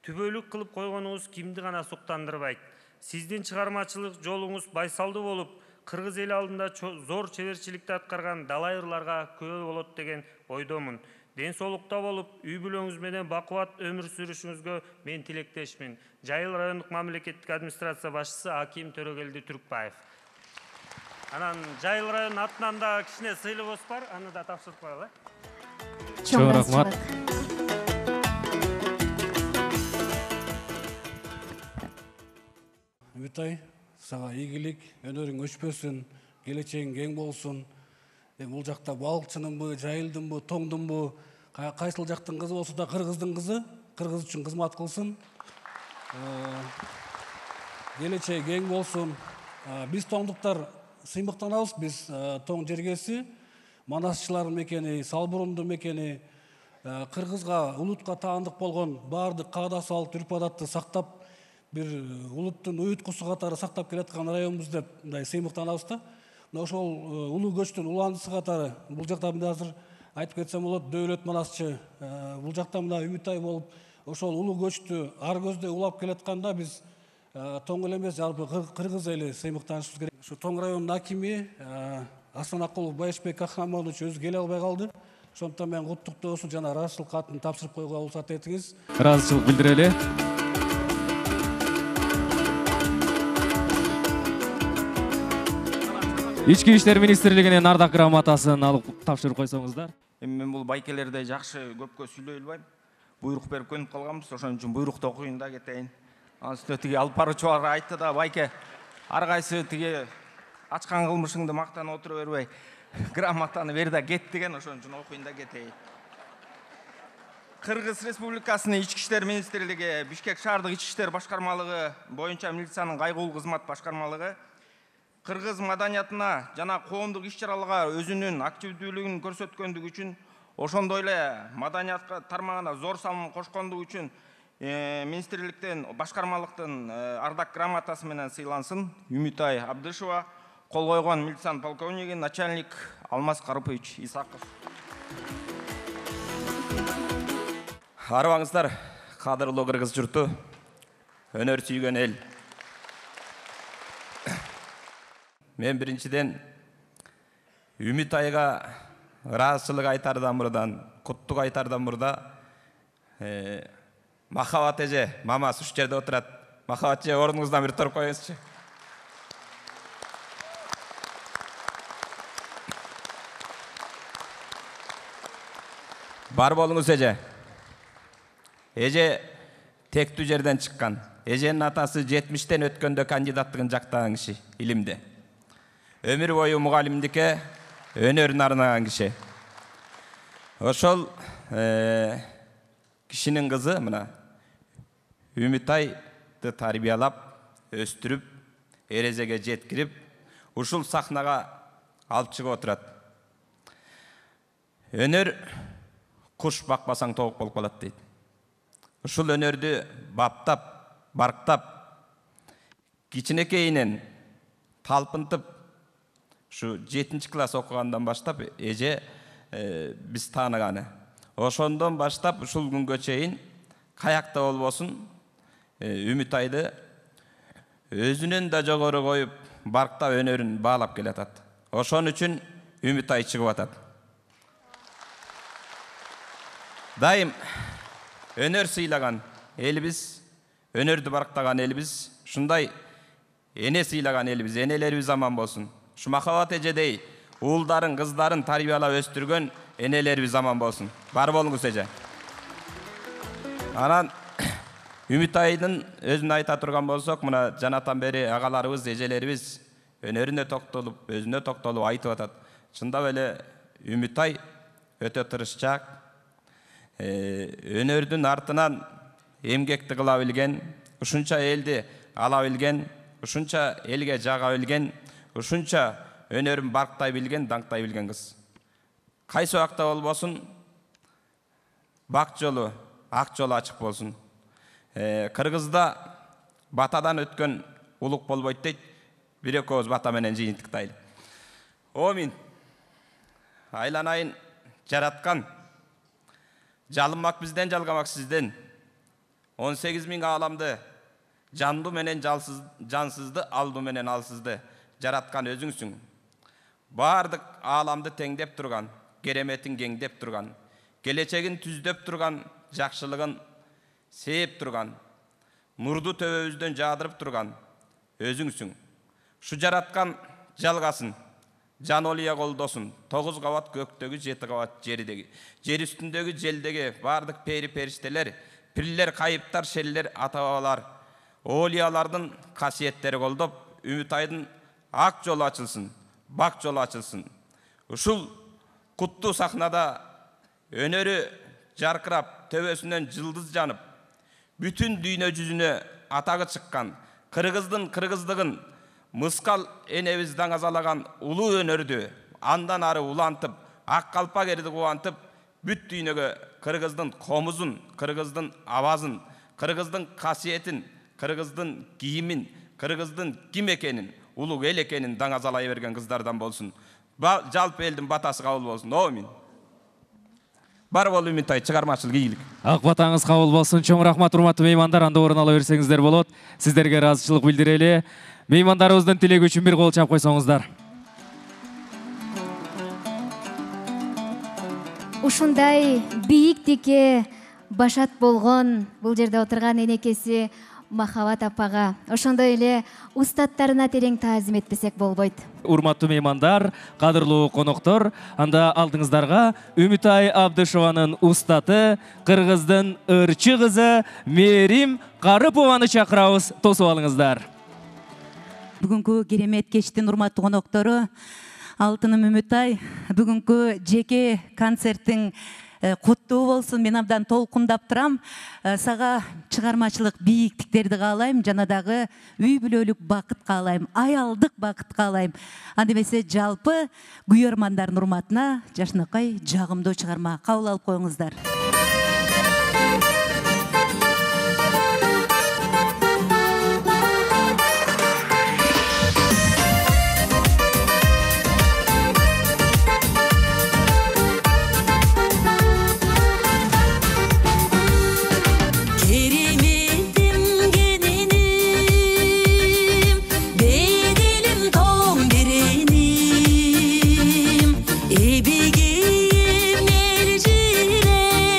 түбөлүк кылып койгонуңуз кимди гана суктандырбайт. Сиздин чыгармачылык жолуңуз байсалдуу болуп, кыргыз эл алдында зор чеберчиликти аткарган далай ырларга күбө болот деген ойдомун. Ден соолукта болуп, үй бүлөңүз менен бакубат өмүр сүрүшүңүзгө мен тилектешмин. Жайыл райондук мамлекеттик администрация башчысы Аким Төрөгелди Түркбаев. Анан Жайыл районунун атынан да кичине сыйлыгыбыз бар, аны да тапшырып коелу. Чоң рахмат. Үмүтай, сага ийгилик, өнөрүң өчпөсүн, келечегиң кең болсун. Бул жакта балыкчынынбы, жайылдынбы, тоңдунбу, кайсыл жактын кызы болсо да кыргыздын кызы, кыргыз үчүн кызмат кылсын. Келечеги кең болсун. Биз тоңдуктар сыймыктанабыз, биз тоң жергеси, манасчылардын мекени, Салбурумдун мекени, кыргызга, улутка таандык болгон баардык каада салт, үрп адатты сактап, бир улуттун уюткусу катары сактап келаткан районбуз деп мындай сыймыктанабыз да. Ошол улуу көчтүн уландысы катары бул жакта мына азыр айтып кетсем болот, Дөөлөт манасчы бул жакта мына Үмүтай болуп, ошол улуу көчтү ар көздөй улап келатканда биз тоң эле эмес, жалпы кыргыз эли сыймыктанышыбыз керек. Ушу Тоң районунун акими Асанакулов Байышбек Кахрамонович өзү келе албай калды. Ошондуктан мен куттуктоосун жана ыраазычылык катын тапшырып коюуга уруксат этиңиз. Ыраазычылык билдирели. Ички иштер министрлигинин ардак грамотасын алып тапшырып койсоңуздар. Эми мен бул байкелерде жакшы көпкө сүйлөй албайм. Буйрук берип көнүп калганбыз, ошон үчүн буйрукту окуйын да кетейин. Анан үстүнө тиги алып баруучулар айтты да, байке, ар кайсы тиги ачкан кылмышыңды мактанып отура бербей, грамотаны бер да кет деген, ошон үчүн окуйун да кетейин. Кыргыз Республикасынын Ички иштер министрлиги, Бишкек шаардык Ички иштер башкармалыгы боюнча милициянын кайгылуу кызмат башкармалыгы кыргыз маданиятына жана коомдук иш-чараларга өзүнүн активдүүлүгүн көрсөткөндүгү үчүн, ошондой эле маданиятка тармагына зор салым кошкондугу үчүн министрликтен, башкармалыктын ардак грамотасы менен сыйлансын. Үмүтай Абдышева, кол койгон милициянын полковниги, начальник Алмаз Карыпович Исаков. Арыбаңыздар, кадырлуу кыргыз журту, өнөр сүйгөн эл. Мен биринчиден Үмүтайга ыраазычылык айтардан мурдан, куттук айтардан мурда Махабат эже, мамасы ушу жерде отурат. Махабат эже, ордуңуздан бир туруп коюңузчу. Бар болуңуз эже. Эже тектүү жерден чыккан. Эженин атасы 70тен өткөндө кандидаттыгын жактаган киши илимде. Өмүр бою мугалимдикке өнөрүн арнаган киши. Ошол кишинин кызы мына Үмүтайды тарбиялап, өстүрүп, эрежеге жеткирип, ушул сахнага алып чыгып отурат. Өнөр куш бакпасаң тоок болуп калат дейт. Ушул өнөрдү баптап, барктап, кичинекейинен талпынтып, ушу 7 класс окугандан баштап эже биз тааныганы. Ошондон баштап ушул күнгө чейин каякта болбосун Үмүтайды өзүнөн да жогору коюп, барктап өнөрүн баалап келатат. Ошон үчүн Үмүтай чыгып атат. Дайым өнөр сыйлаган элибиз, өнөрдү барктаган элибиз, ушундай эне сыйлаган элибиз, энелерибиз аман болсун. Ушу Махабат эжедей уулдарын, кыздарын тарбиялап өстүргөн энелерибиз аман болсун. Бар болуңуз эже. Анан Үмүтайдын өзүн айта турган болсок, мына жанатан бери агаларыбыз, эжелерибиз өнөрүнө токтолуп, өзүнө токтолуп айтып атат. Чындап эле Үмүтай өтө тырышчаак, өнөрдүн артынан эмгекти кыла билген, ушунча элди ала билген, ушунча элге жага билген, ушунча өнөрүн барктай билген, даңктай билген кыз. Кайсы убакта болбосун, бак жолу, ак жолу ачык болсун. Кыргызда батадан өткөн улук болбойт дейт. Бир экөөбүз бата менен жыйынтыктайлы. Омин. Айланайын жараткан. Жалынмак бизден, жалгамак сизден. 18.000 ааламды жанду менен жансызды, алду менен алсызды жараткан өзүңсүң. Бардык ааламды теңдеп турган, кереметин кеңдеп турган, келечегин түздөп турган, жакшылыгын сээп турган, нурду төбөбүздөн жаадырып турган өзүңсүң. Шу жараткан жалгасын, жан олия колдосун, 9 кабат көктөгү, 7 кабат жердеги, жер үстүндөгү, желдеги бардык пери периштелер, пирлер, кайыптар, шеллер, ата-бабалар, олиялардын касиеттери колдоп, Үмүтайдын ак жолу ачылсын, бак жолу ачылсын. Ушул куттуу сахнада өнөрү жаркырап, төбөсүнөн жылдыз жанып, бүтүн дүйнө жүзүнө атагы чыккан, кыргыздын кыргыздыгын мыскал энебиз даңазалаган улуу өнөрдү андан ары улантып, ак калпак эрди кубантып, бүт дүйнөгө кыргыздын комузун, кыргыздын абазын, кыргыздын касиетин, кыргыздын кийимин, кыргыздын ким экенин, улуу эл экенин даңазалай берген кыздардан болсун. Жалпы элдин батасы кабыл болсун. Омин. Бар бол Үмүтай, чыгармачылык ийгилик. Ак батаңыз кабыл болсун. Чоң рахмат, урматтуу меймандар. Анда орун ала берсеңиздер болот. Сиздерге ыраазычылык билдирели. Меймандарыбыздын тилеги үчүн бир кол чап койсоңуздар. Ушундай бийиктикке башат болгон бул жерде отурган энекеси Махабат апага, ошондой эле устаттарына терең таазим этпесек болбойт. Урматтуу меймандар, кадырлуу коноктор, анда алдыңыздарга Үмүтай Абдышеванын устаты, кыргыздын ырчы кызы Мээрим Карыпованы чакырабыз. Тосуп алыңыздар. Бүгүнкү керемет кечтин урматтуу коноктору, алтыным Үмүтай, бүгүнкү жеке концерттин куттуу болсун. Мен абдан толкундап турам. Сага чыгармачылык бийиктиктерди каалайм, жана дагы үй бүлөлүк бакыт каалайм, аялдык бакыт каалайм. Анда эмесе жалпы күйөрмандардын урматына жашынакай жагымдуу чыгарма кабыл алып коюңуздар. Ebigeyim elcire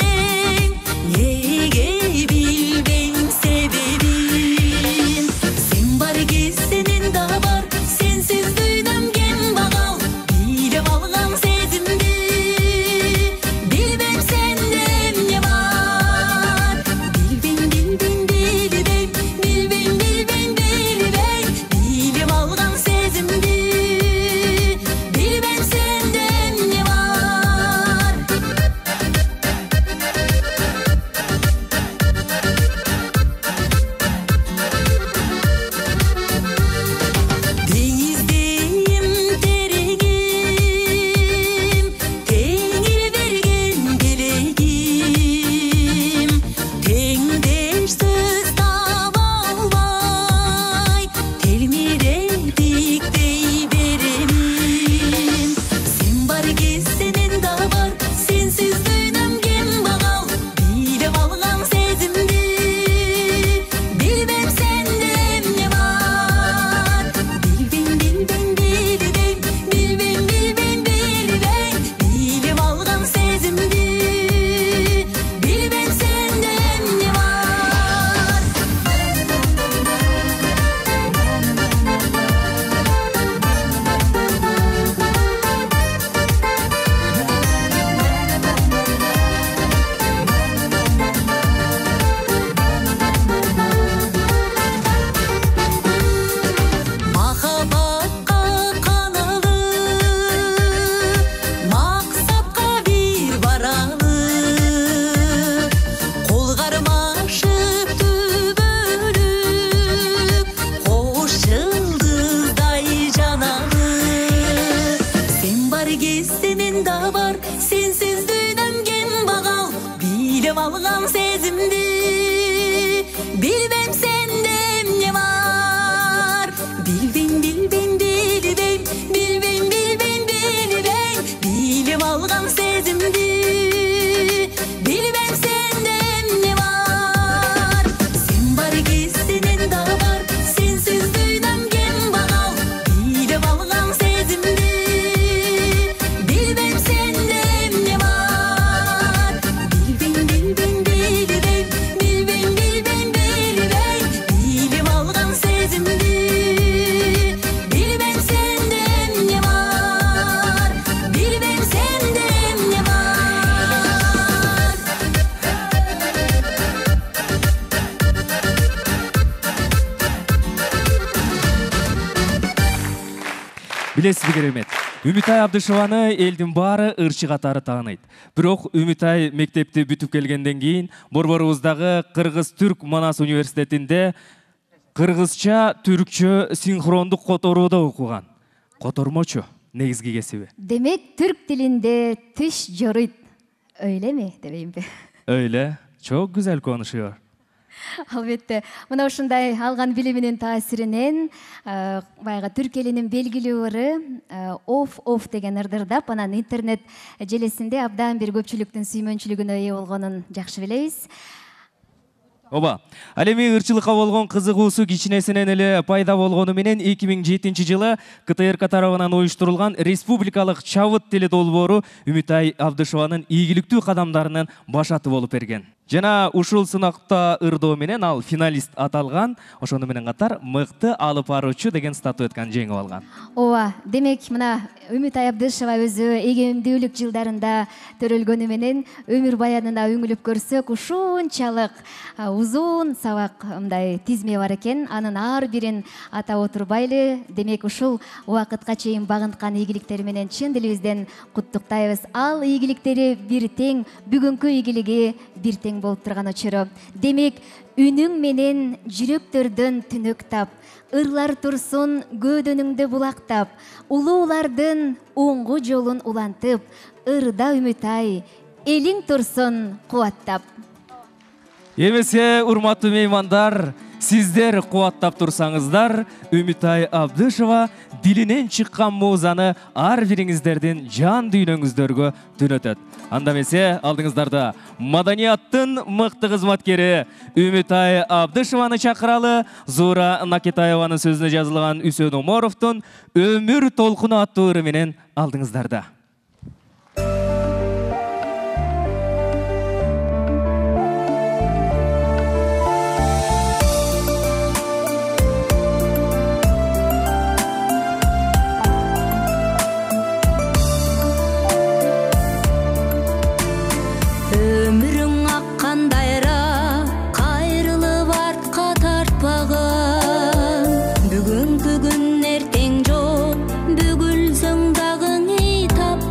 сенен да бар, сенсиз дүйнөм кем багал. Билип алгам сезимди, билбем сенде эмне бар. Билбейм, билбейм, билбейм, билбейм, билбейм, билбейм, билип алгам сезимди, билбем сенде эмне бар. Сен бар кез сенен да бар, сенсиз дүйнөм кем багал. Билип алгам сезимди, билбем сенде эмне бар. Билбейм, билбейм, билбейм, билбейм, билбейм, билбейм, билип алгам сезимди, билбем сенде эмне бар. Билбем сенде эмне бар. Билесизби керемет, Үмүтай Абдышеваны элдин баары ырчы катары тааныйт. Бирок Үмүтай мектепти бүтүп келгенден кийин борборубуздагы Кыргыз-Түрк Манас университетинде кыргызча, түркчө синхрондук которууда окуган. Котормочу негизги кесиби. Демек, түрк тилинде тиш жоруйт. Öyle дебеймби? Öyle. Çok güzel konuşuyor. Албетте, мына ушундай алган билиминин таасиринен баягы түрк элинин белгилүү ыры оф деген ырдырдап, анан интернет желесинде абдан бир көпчүлүктүн сүймөнчүлүгүнө ээ болгонун жакшы билебиз. Оба, ал эми ырчылыкка болгон кызыгуусу кичинесинен эле пайда болгону менен 2007-жылы КТРК тарабынан уюштурулган республикалык чабыт тили долбоору Үмүтай Абдышеванын ийгиликтүү кадамдарынын башаты болуп берген. Жана ушул сынакта ырдоо менен ал финалист аталган, ошону менен катар мыкты алып баруучу деген статуэтканы жеңип алган. Ооба, демек мына Үмүтай Абдышева өзү эгемдүүлүк жылдарында төрөлгөнү менен өмүр баянына үңүлүп көрсөк, ушунчалык узун сабак мындай тизме бар экен. Анын ар бирин атап отурбайлы. Демек ушул убакытка чейин багынткан ийгиликтери менен чын дилибизден куттуктайбыз. Ал ийгиликтери бир тең, бүгүнкү ийгилиги бир тең болуп турган очоро. Демек, үнүң менен жүрөктөрдөн түнөк тап, ырлар турсун көөдөнүңдө булактап, улуулардын оңгу жолун улантып, ырда Үмүтай, элиң турсун кубаттап. Эмесе, урматтуу меймандар, сиздер кубаттап турсаңыздар, Үмүтай Абдышева дилинен чыккан муузаны ар бириңиздердин жан дүйнөңүздөргө түнөтөт. Анда эмесе, алдыңыздарда маданияттын мыкты кызматкери Үмүтай Абдышеваны чакыралы. Зуура Накетаеванын сөзүнө жазылган Үсөн Оморовдун Өмүр толкуну аттуу ыры менен алдыңыздарда. Өмүрүң аккан дайра, кайрылып артка тартпаган. Бүгүнкү күн эртең жок, бүгүлсөң дагы ий тап.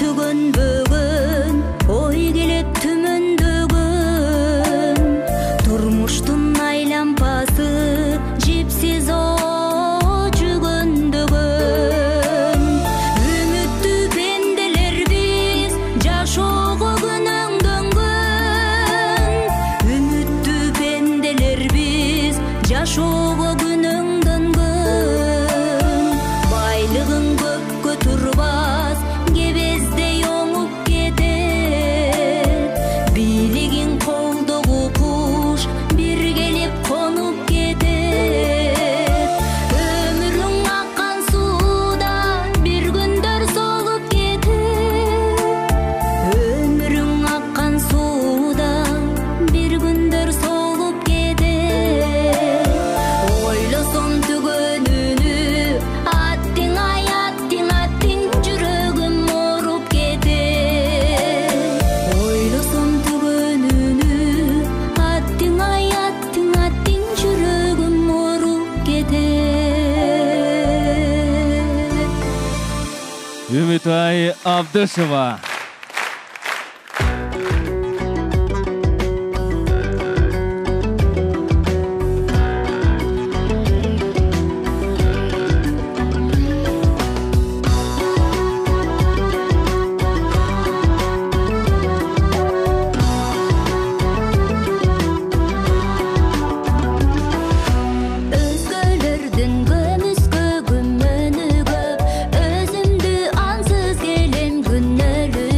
түгөнбөгөн ой келет түмөндөгөн турмуштун айлампасы жипсиз жүгөндөгөн үмүттүү пенделер биз жашоого күнөңдөнгөн үмүттүү пенделер биз жашоого күнөңдөнгөн байлыгың көпкө турбас кебездей оңуп кетет бийлигиң колдогу куш бир келип конуп кетет өмүрүң аккан сууда бир күндөр солуп кетет өмүрүң аккан сууда бир күндөр солуп кетет ойлосом түгөнүнү аттиң ай аттиң жүрөгүм ооруп кетет ойлосом түгөнүнү аттиң ай аттиң жүрөгүм ооруп кетет. Үмүтай Абдышева. Өзгөлөрдүн көмүскө күмөнү көп өзүмдү ансыз келем күнөөлүү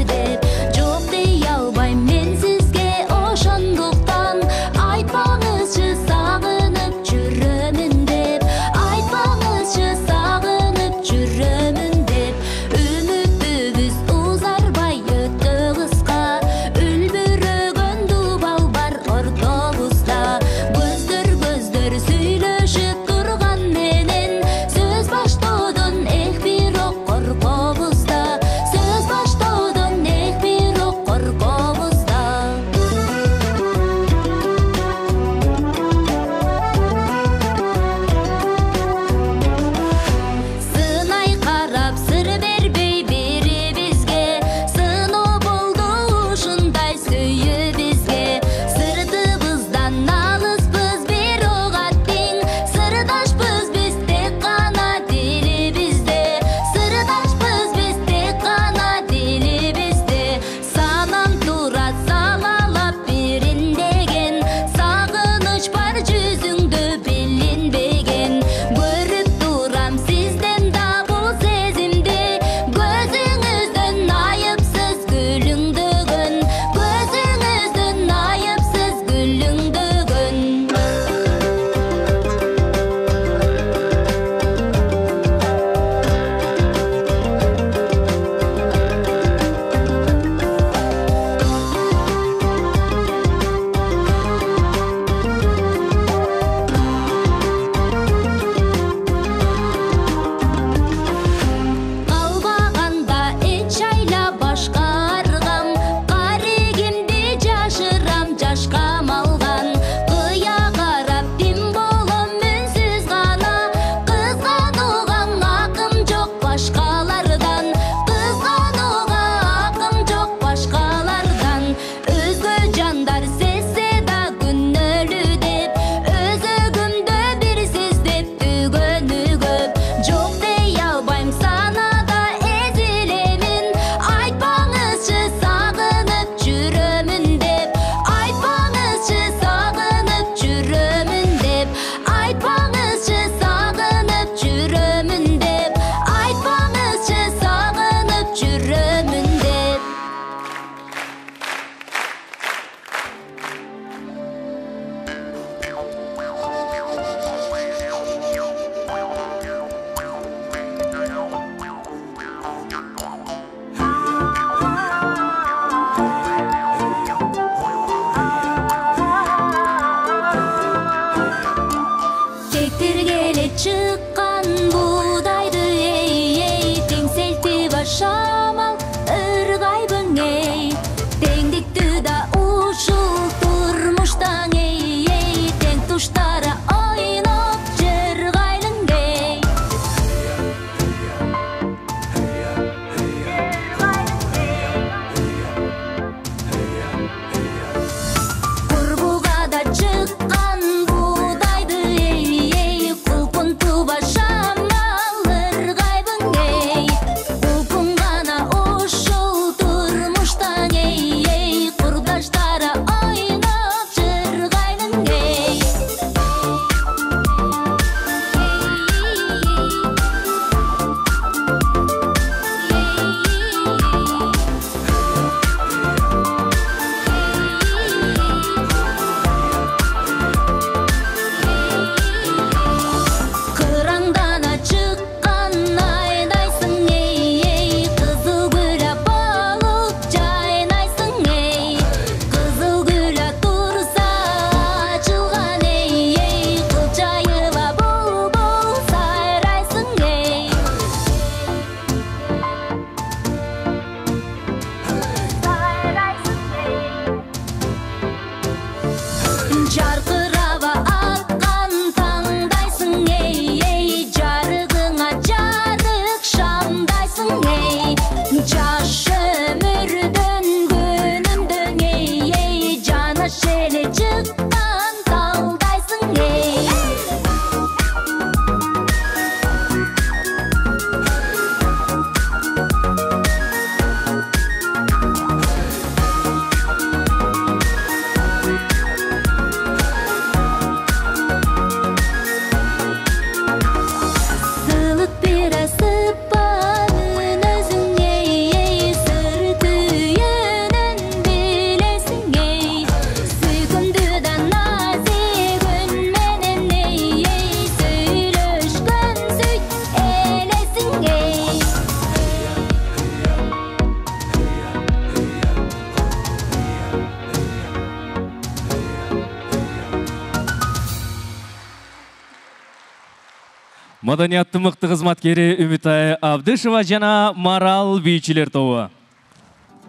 Маданияттын мыкты кызматкери Үмүтай Абдышева жана Марал бийчилер тобу.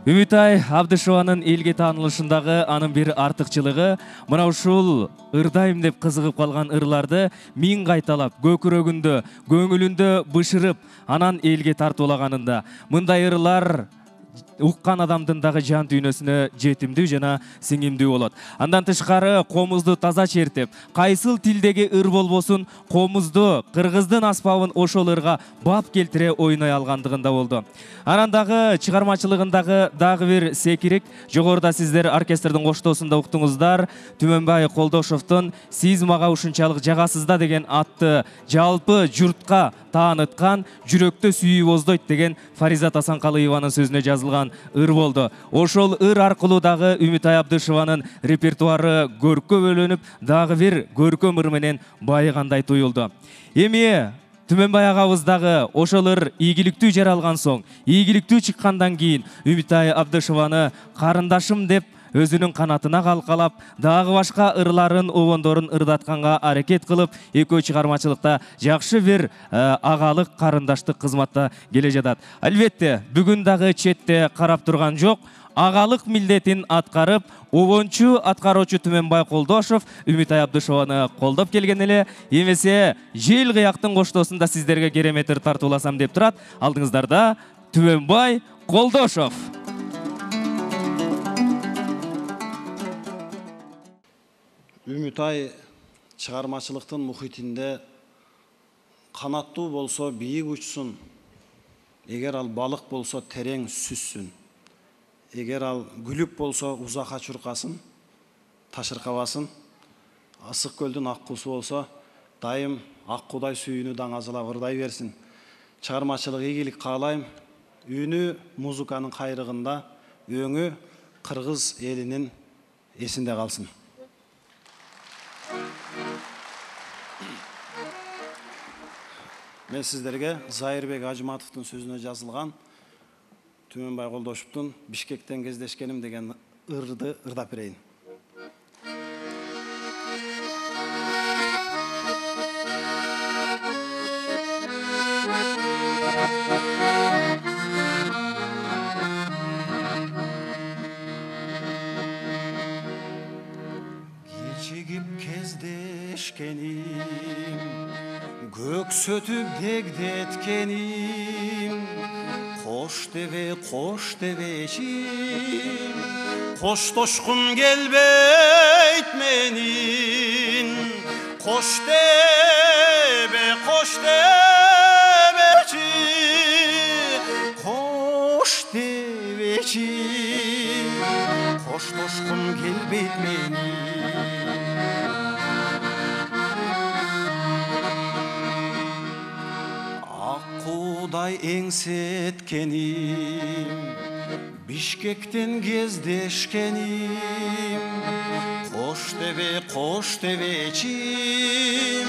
Үмүтай Абдышеванын элге таанылышындагы анын бир артыкчылыгы мына ушул ырдайм деп кызыгып калган ырларды миң кайталап, көкүрөгүндө, көңүлүндө бышырып, анан элге тартуулаганында. Мындай ырлар уккан адамдын дагы жан дүйнөсүнө жетимдүү жана сиңимдүү болот. Андан тышкары комузду таза чертип, кайсыл тилдеги ыр болбосун, комузду, кыргыздын аспабын ошол ырга бап келтире ойной алгандыгында болду. Анан дагы чыгармачылыгындагы дагы бир секирик, жогоруда сиздер оркестрдин коштоосунда уктуңуздар, Түмөнбай Колдошовдун "Сиз мага ушунчалык жагасыз да" деген атты жалпы журтка тааныткан "Жүрөктө сүйүү боздойт" деген Фаризат Асанкалыеванын сөзүнө жазылган ыр болду. Ошол ыр аркылуу дагы Үмүтай Абдышеванын репертуары көркө бөлөнүп, дагы бир көркөм ыр менен байыгандай туюлду. Эми Түмөнбай агабыз дагы ошол ыр ийгиликтүү жаралган соң, ийгиликтүү чыккандан кийин Үмүтай Абдышеваны карындашым деп өзүнүн канатына калкалап, дагы башка ырларын, обондорун ырдатканга аракет кылып, экөө чыгармачылыкта жакшы бир агалык, карындаштык кызматта келе жатат. Албетте, бүгүн дагы четте карап турган жок. Агалык милдетин аткарып, обончу аткаруучу Түмөнбай Колдошов Үмүтай Абдышеваны колдоп келген эле. Эмесе, жел кыяктын коштоосунда сиздерге керемет ыр тартууласам деп турат. Алдыңыздарда Түмөнбай Колдошов. Үмүтай чыгармачылыктын мухитинде канаттуу болсо бийик учсун, эгер ал балык болсо терең сүзсүн, эгер ал күлүп болсо узакка чуркасын, ташыркабасын, ысык көлдүн ак куусу болсо дайым ак куудай сүйүүнү даңазалап ырдай берсин. Чыгармачылык ийгилик каалайм. Үнү музыканын кайрыгында, өңү кыргыз элинин эсинде калсын. Мен сиздерге Зайырбек Ажыматовдун сөзүнө жазылган Түмөнбай Колдошовдун "Бишкектен кездешкеним" деген ырды ырдап берейин. Кечигип кездешкеним, көксөтүп дегдеткеним, кош дебечим, коштошкум келбейт менин, кош дебечим, кош дебечим, коштошкум келбейт менин. Аккуудай эңсеткеним, Бишкектен кездешкеним, кош дебечим,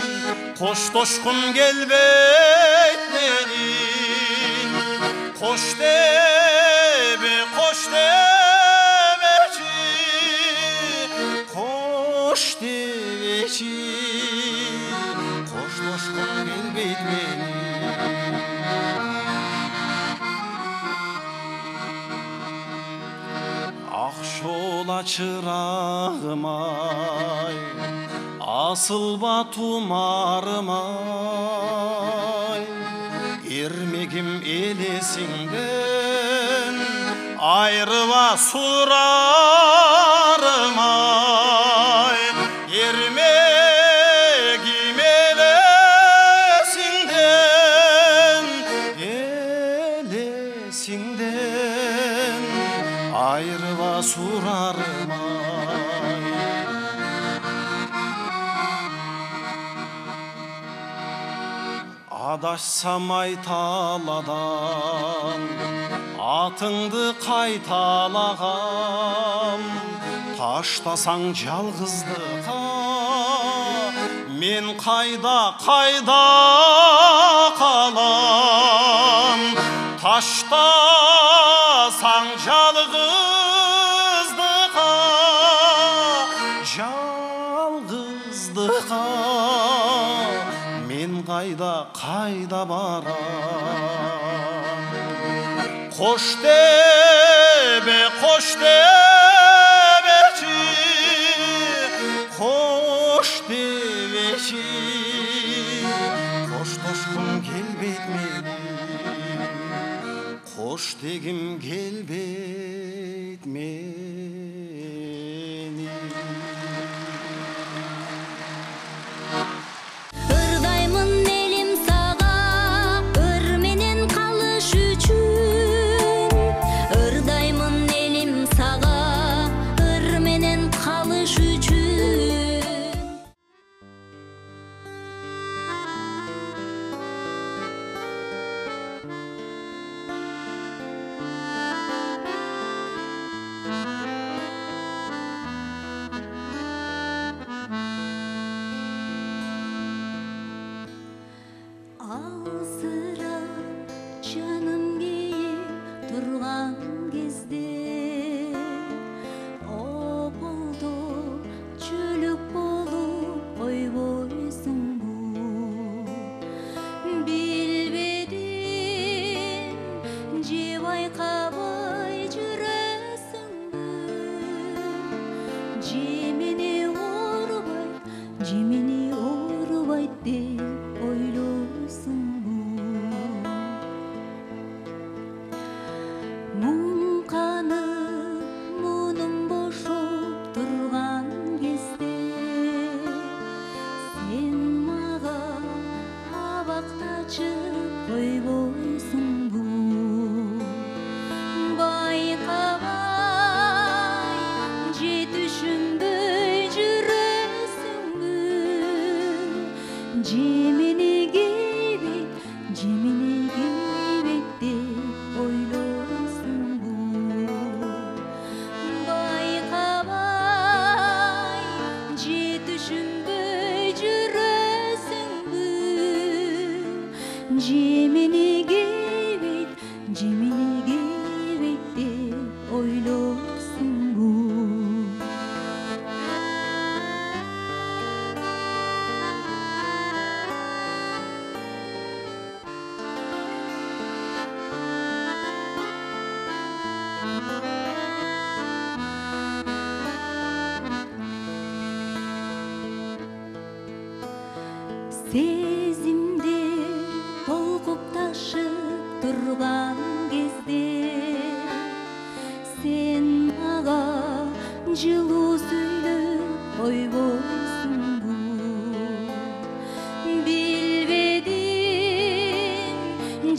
коштошкум келбейт менин, кош дебечим, кош дебечим, коштошкум келбейт менин. Акшола чырагым-ай, асылба тумарым-ай, эрмегим элесиңден, айрыба сурарым-ай, эрмегим элесиңден, айрыба сурарым-ай. Адашсам айталадан, атыңды кайталагам, таштасаң жалгыздыкка, мен кайда калам, таштасаң жалгыздыкка, мен кайда барам. Кош дебечи, кош дебечи, коштошкум келбейт мени, кош дегим келбейт мени. Ырдаймын элим сага, ыр менен калыш үчүн. Ырдаймын элим сага, ыр менен калыш үчүн. Алсырап жаным кейип турган кезде, ополдо чөлөк болуп койбойсуңбу? Билбедим же байкабай жүрөсүңбү? Же мени оорубайт деп ойлойсуңбу? Мунум бошоп турган кезде, сен мага абактачып койбойсуңбу? Байкабай же түшүнбөй жүрөсүңбү? Же мени кейбейт деп ойлойсуңбу? Байкабай же түшүнбөй жүрөсүңбү? Же мени кейбейт деп ойлойсуңбу? Сезимдер толкуп ташып турган кезде, сен мага жылуу сүйлөп койбойсуңбу? Билбедим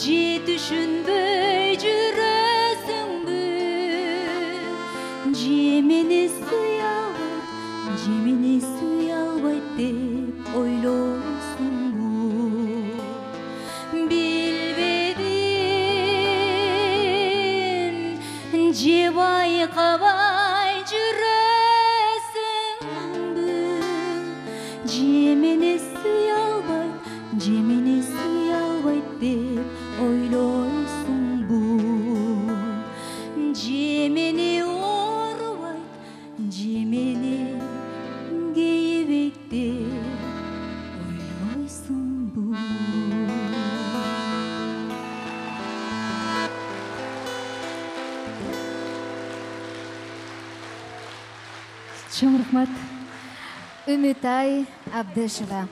же түшүнбөй жүрөсүңбү? Же мени сүйө албайт деп ойлойсуңбу? Билбедим же байкабай жүрөсүңбү? Же мени сүйө албайт деп ойлойсуңбу? Же мени оорубайт, же мени кейбейт деп ойлойсуңбу? Чоң рахмат. Үмүтай Абдышева.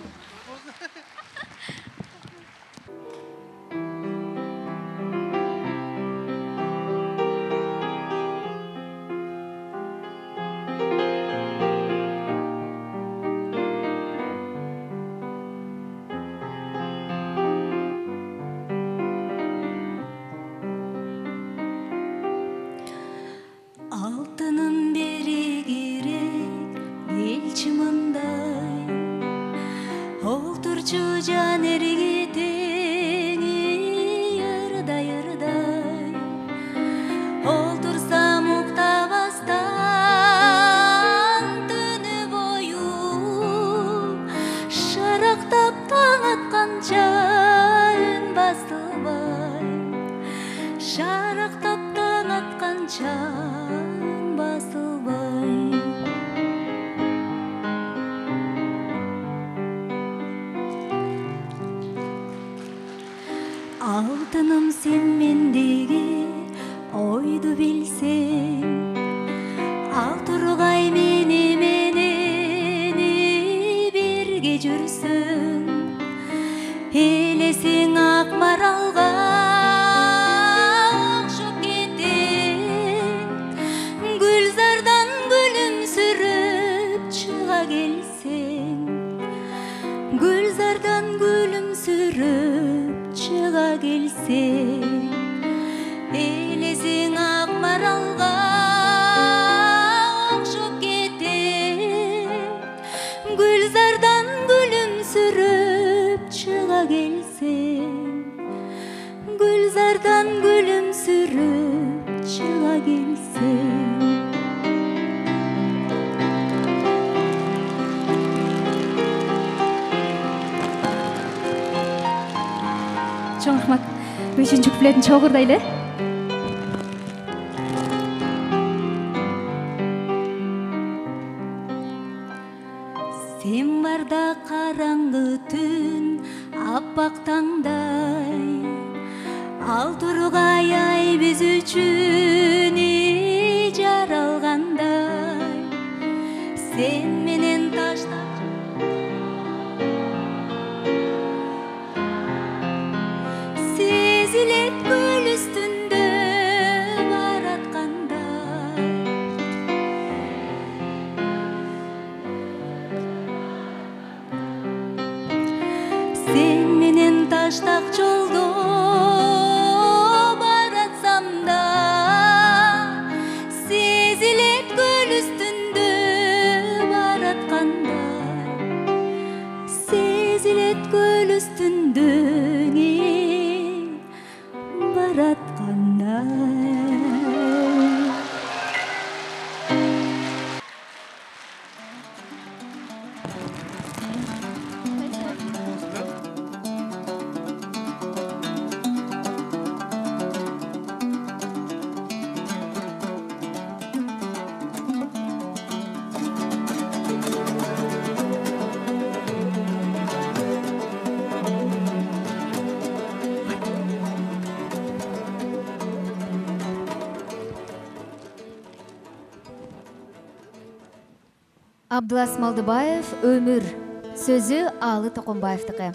Алтынын бери керек элчи мындай, олтурчу жан эргетени ырдай. Олтурсам уктабастан түнү бою, шарактап таң атканча үн басылбай, шарактап таң атканча басылбай. алтыным сен мендеги ойду билсең, ал тургай менен бирге жүрсөң, элесең ак маралга окшоп кетең, гүлзардан күлүмсүрөп чыга келсең, гүлзардан күлүмсүрөп чыга келсең, элесең ак маралга окшоп кетең, гүлзардан күлүмсүрөп чыга келсең, гүлзардан күлүмсүрөп чыга келсең. Чоң рахмат. 5-чи куплетін чогурдайлы. Сен барда караңгы түн аппак таңдай, ал тургай ай биз үчүн жаралгандай, сен менен таштап сезилет көл үстүндө бараткандай. Сен менен таштак жолдо баратсам да, сезилет көл үстүндө бараткандай, сезилет көл үстүндө бараткандай. Абдылас Малдыбаев, Өмүр. Сөзү Алы Токонбаевдики.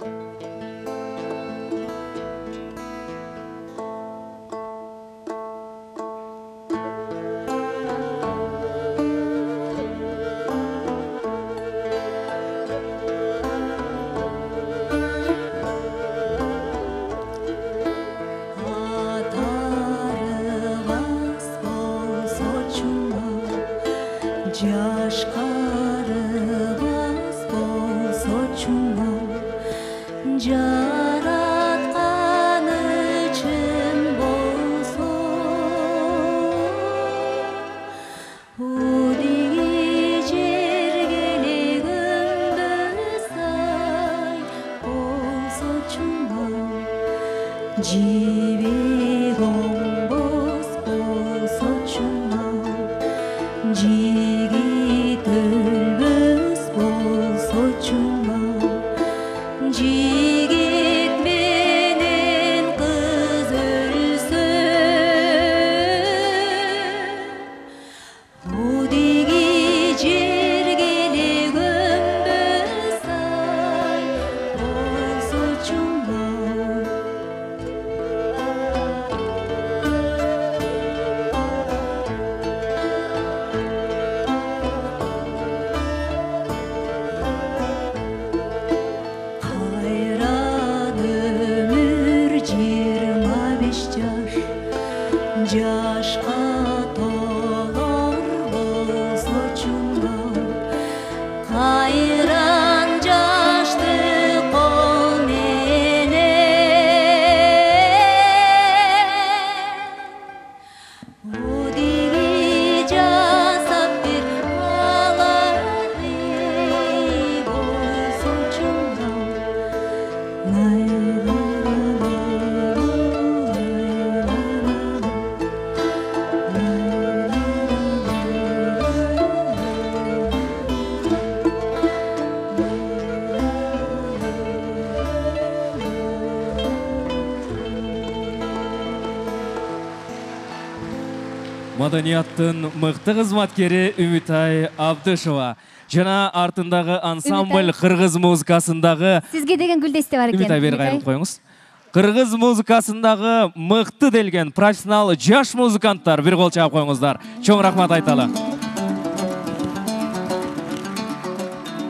Маданияттын мыкты кызматкери Үмүтай Абдышева жана артындагы ансамбль кыргыз музыкасындагы сизге деген гүлдесте бар экен. Үмүтай бери кайрылып коюңуз. Кыргыз музыкасындагы мыкты делген профессионал жаш музыканттар бир кол чаап коюңуздар. Чоң рахмат айталы.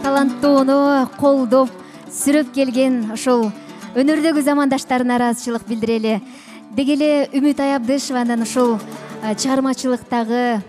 Таланттууну колдоп, сүрөп келген ошол өнөрдөгү замандаштарына ыраазычылык билдирели. Деги эле Үмүтай Абдышеванын ушул чыгармачылыктагы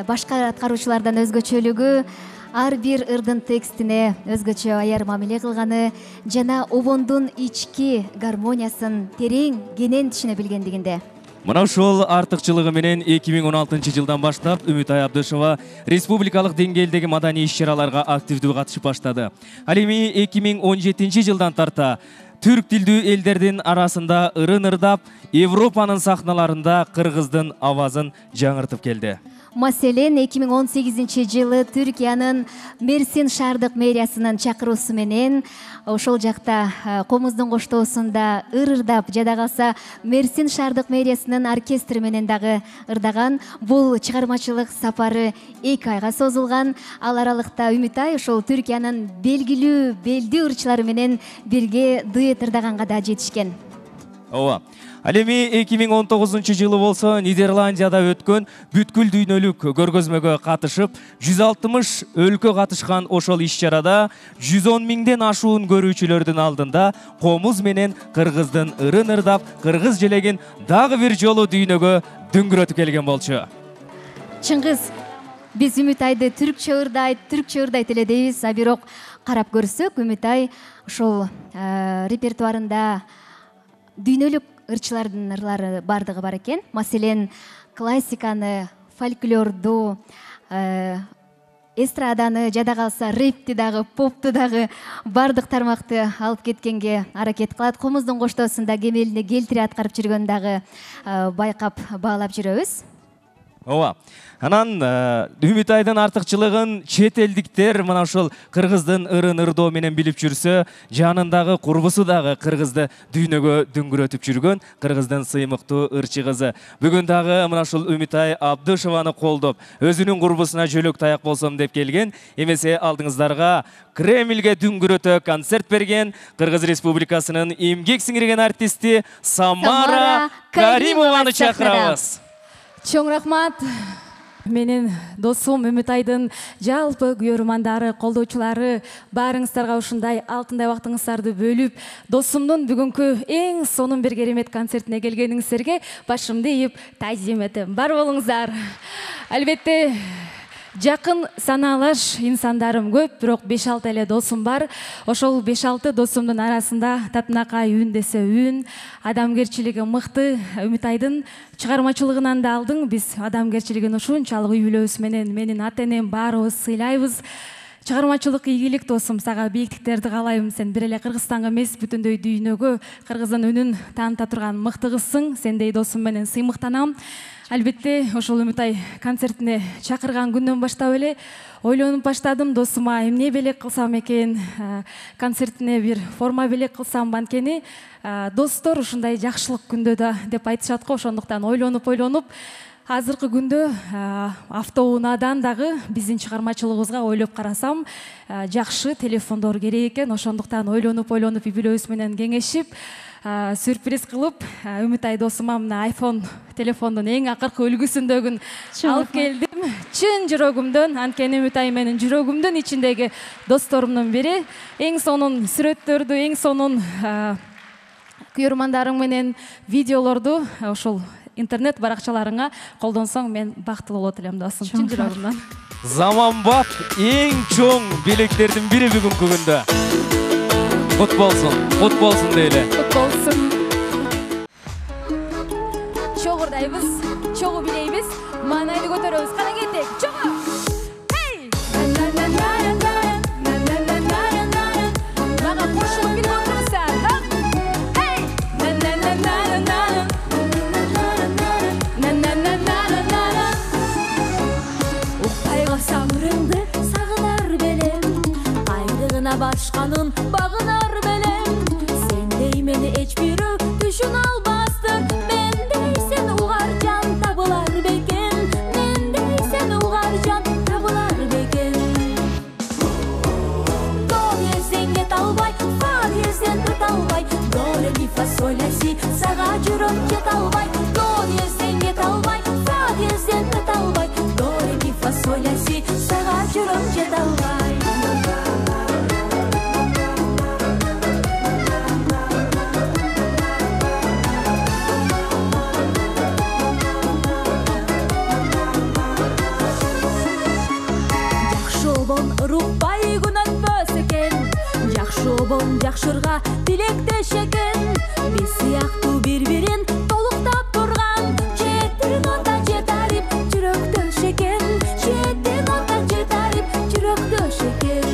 башка аткаруучулардан өзгөчөлүгү ар бир ырдын текстине өзгөчө аяр мамиле кылганы жана обондун ички гармониясын терең кенен түшүнө билгендигинде. Мына ушул артыкчылыгы менен 2016 жылдан баштап Үмүтай Абдышева республикалык деңгээлдеги маданий иш-чараларга активдүү катышып баштады. Ал эми 2017 жылдан тарта түрк тилдүү элдердин арасында ырын ырдап, Европанын сахналарында кыргыздын авазын жаңыртып келди. Маселен, 2018 жылы Түркиянын Мерсин шаардык мэриясынын чакыруусу менен ошол жакта комуздун коштоосунда ыр-ырдап, жада калса Мерсин шаардык мэриясынын оркестри менен дагы ырдаган. Бул чыгармачылык сапары 2 айга созулган. Ал аралыкта Үмүтай ошол Түркиянын белгилүү белдүү ырчылары менен бирге дуэт ырдаганга да жетишкен. Ооба. Ал эми 2019 жылы болсо Нидерландияда өткөн бүткүл дүйнөлүк көргөзмөгө катышып, 160 өлкө катышкан ошол иш-чарада 110 миңден ашуун көрүүчүлөрдүн алдында комуз менен кыргыздын ырын ырдап, кыргыз желегин дагы бир жолу дүйнөгө дүңгүрөтүп келген болчу. Чыңгыз, биз Үмүтайды түркчө ырдайт эле дейбиз, а бирок карап көрсөк, Үмүтай ошол репертуарында дүйнөлүк ырчылардын ырлары бардыгы бар экен. Маселен, классиканы, фольклорду, эстраданы, жада калса рэпти дагы, попту дагы бардык тармакты алып кеткенге аракет кылат. Комуздун коштоосунда кемелине келтире аткарып жүргөн дагы байкап баалап жүрөбүз. Ооба. Анан Үмүтайдын артыкчылыгын чет элдиктер мына ушул кыргыздын ырын ырдоо менен билип жүрсө, жанындагы курбусу дагы кыргызды дүйнөгө дүңгүрөтүп жүргөн кыргыздын сыймыктуу ырчы кызы. Бүгүн дагы мына ушул Үмүтай Абдышеваны колдоп, өзүнүн курбусуна жөлөк таяк болсом деп келген. Эмесе алдыңыздарга Кремльге дүңгүрөтө концерт берген Кыргыз Республикасынын эмгек сиңирген артисти Самара Каримованы чакырабыз. Чоң рахмат. Менин досум Үмүтайдын жалпы көрөрмандары, колдоочулары баарыңыздарга ушундай алтындай убактыңыздарды бөлүп, досумдун бүгүнкү эң сонун бир керемет концертине келгениңиздерге башымды ийип таазим этем. Бар болуңуздар. Албетте жакын санаалаш инсандарым көп, бирок 5-6 эле досум бар. Ошол 5-6 досумдун арасында татынакай үн десе үн, адамгерчилиги мыкты Үмүтайдын чыгармачылыгынан да алдың. Биз адамгерчилигин ушунчалык үй бүлөбүз менен, менин ата-энем баарыбыз сыйлайбыз. Чыгармачылык ийгилик досум, сага бийиктиктерди каалайм. Сен бир эле Кыргызстанга эмес, бүтүндөй дүйнөгө кыргыздын үнүн тааныта турган мыкты кызсың. Сендей досум менен сыймыктанам. Албетте, ошол Үмүтай концертине чакырган күндөн баштап эле ойлонуп баштадым, досума эмне белек кылсам экен, концертине бир форма белек кылсам. Банткени достор ушундай жакшылык күндө да деп айтышат го. Ошондуктан ойлонуп азыркы күндө автоунаадан дагы биздин чыгармачылыгыбызга ойлоп карасам, жакшы телефондор керек экен. Ошондуктан ойлонуп үй бүлөбүз менен кеңешип, сюрприз кылып, Үмүтай досума мына iPhone телефондун эң акыркы үлгүсүндөгүн алып келдим. Чын жүрөгүмдөн, анткени Үмүтай менин жүрөгүмдүн ичиндеги досторумдун бири. Эң сонун сүрөттөрдү, эң сонун көрөрмандарың менен видеолорду ошол интернет баракчаларыңа колдонсоң, мен бактылуу болот элем досум, чын жүрөгүмдөн. Заманбап эң чоң белектердин бири бүгүнкү күндө. Кут болсун дейле. Кут болсун. Чогурдайбыз, чогуу билейбиз, маанайды көтөрөбүз. Кана кеттик, чогуу. Hey! Мага кошулуп билип отурсаң, hey! Укпай калсам ырыңды сагынар белем, айдыгына башканын багынар белем. Сендей мени эч бирөө түшүн албастыр, мендей сен угар жан табылар бекен. жашырга тилектеш экен. Биз сыяктуу бири-бирин толуктап турган жети нота жетарип жүрөктөш экен. Жети нота жетарип жүрөктөш экен.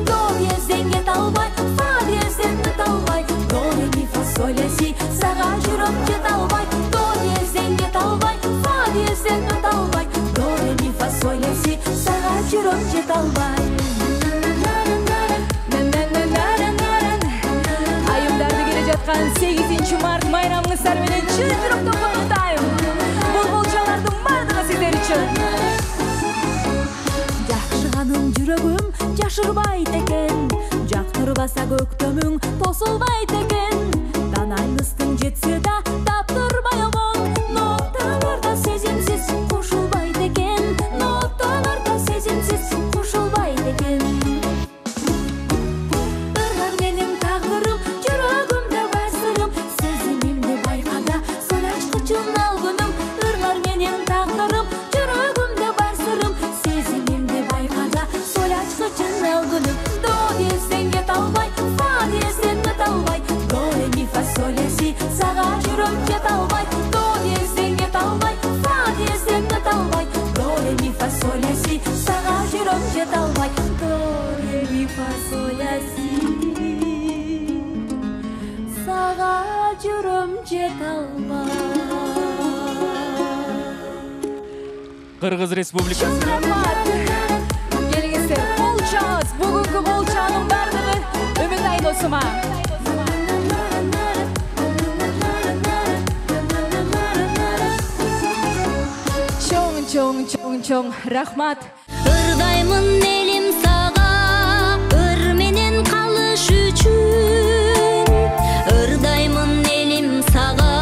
До диезден кете албай, фа диезден өтө албай, до ре ми фа соль ля си, сага жүрөк жете албай. До диезден кете албай, фа диезден өтө албай, до ре ми фа соль ля си, сага жүрөк жете албай. Айымдарды келе жаткан 8-март майрамыңыздар менен чын жүрөктөн коштойм. Бул болчалардын бардыгы сиздер үчүн. Жакшыганым жүрөгүм жашырбайт экен. Жактырбаса көктөмүң тосулбайт экен. Танайлыстың жетсе да таптырбай омон. Ноталарда сезимсиз кошулбайт экен. Ноталарда сезимсиз кошулбайт экен. Ыргар менин тагдырым, жүрөгүмдө бар сырым. Сезимимди байкада, соль ачкычын алгыным. Ыргар менин тагдырым, жүрөгүмдө бар сырым. Сезимимди байкада, соль ачкычын алгыным. До диезден кете албай, фа диезден өтө албай, до ре ми фа соль ля си, сага жүрөк жете албай. До диезден кете албай, фа диезден өтө албай, до ре ми фа соль ля си, сага жүрөк жете албай. До ре ми фа соль ля си, сага жүрөк жете албай. Кыргыз Республикасы. Келиңиздер, болчаңыз, бүгүнкү болчанын бардыгы Үмүтай досума. Чоң рахмат. Ырдаймын элим сага, ыр менен калыш үчүн. Ырдаймын элим сага,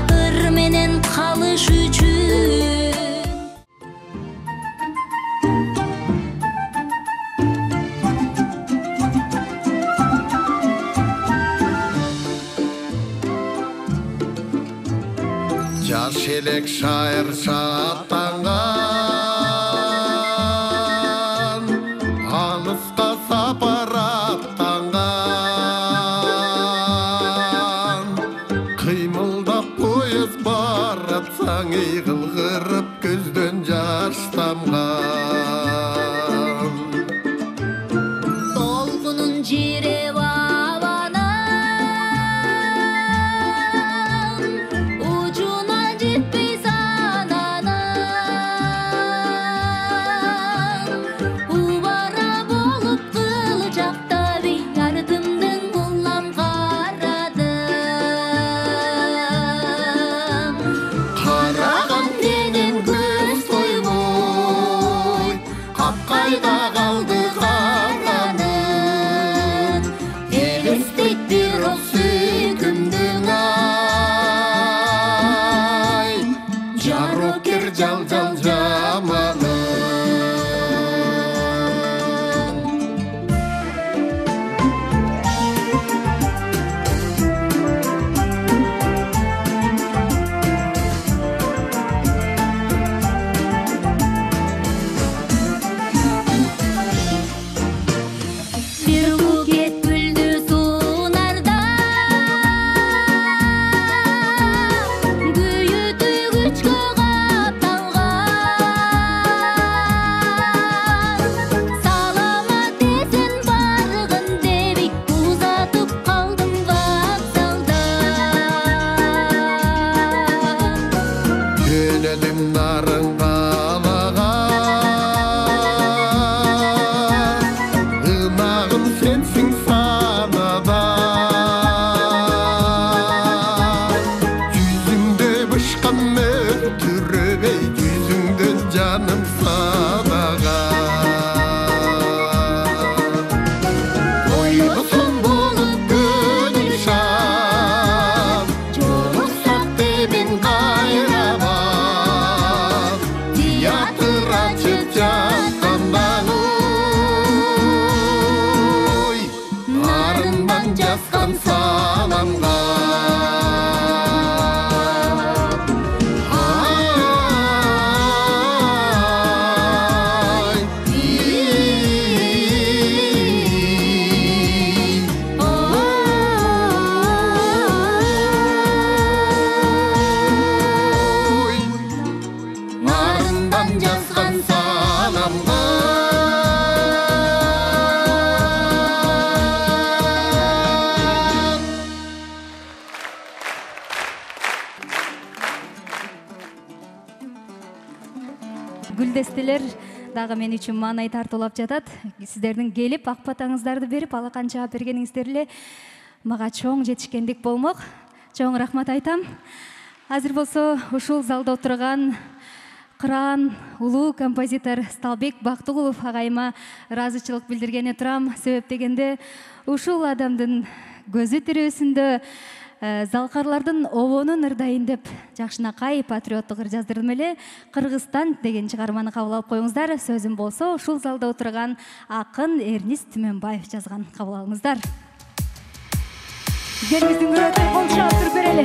ыр менен калыш үчүн. Жаш элек шайыр шаттанган, алыска сапар аттанган. Кыймылдап поезд баратсаң, ыйгылгырып көздөн жаш тамган. Толкунун жиреп абанан, учуна жетпей сананан. Убара болуп кылжакта бий, артымдын улам карадым. Караган менен көз тойбой, капкайда калды карганын. Элестет бир оз сүйкүмдүң ай, жарокер жал жаманы. Бир букет гүлдү суунарда, күйү түйгүчкө капталган. Саламат эсен баргын дебик, узатып калдым вокзалда. Жөнөдүм нарын калага, ынагым сенсиң санада. Жүзүңдө бышкан мөлтүрөбөй, жүзүңдөн жаным садага. Ойгусун болуп көңүл шат, жолуксак дебин кайрабат. Театр ачып жаткандан ой, нарындан жазган саламга. Ай, милдеттестилер дагы мен үчүн маанай тартуулап жатат. Сиздердин келип ак батаңыздарды берип алакан жаап бергениңиздер эле мага чоң жетишкендик болмок. Чоң рахмат айтам. Азыр болсо ушул залда отурган кыран улуу композитор Сталбек Бактыгулов агайыма ыраазычылык билдиргене турам. Себеп дегенде ушул адамдын көзү тирүүсүндө залкарлардын обонун ырдайын деп жакшынакай патриоттук ыр жаздырдым эле. Кыргызстан деген чыгарманы кабыл алып коюңуздар. Сөзүм болсо ушул залда отурган акын Эрнис Түмөнбаев жазган. Кабыл алыңыздар. Жерибиздин көрөтөй кол чаап туруп берели.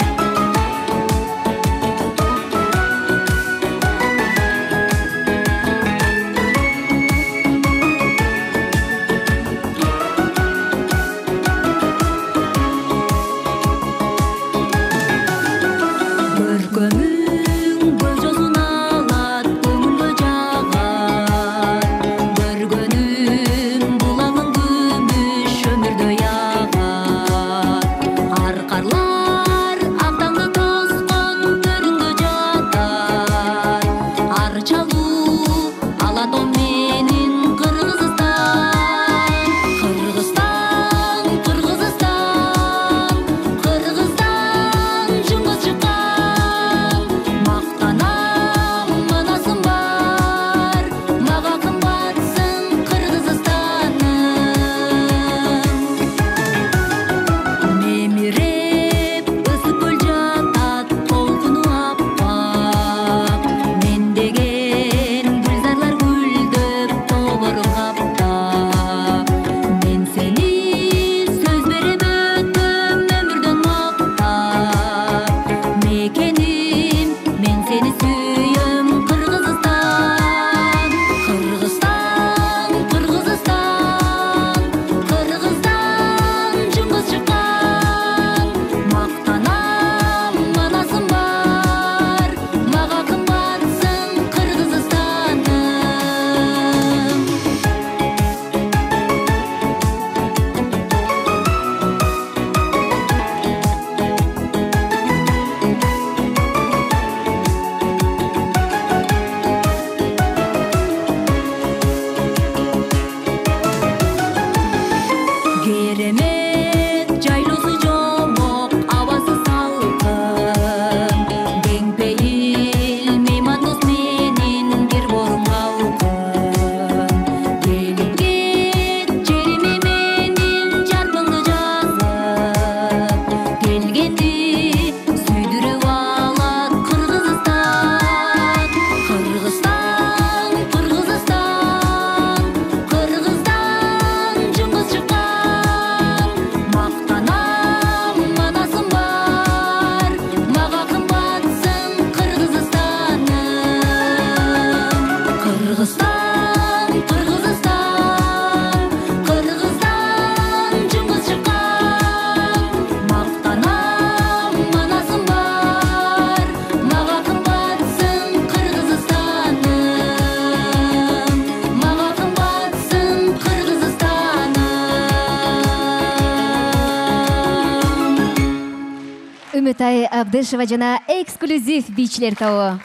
Үмүтай Абдышева жана эксклюзив бичлер тобу.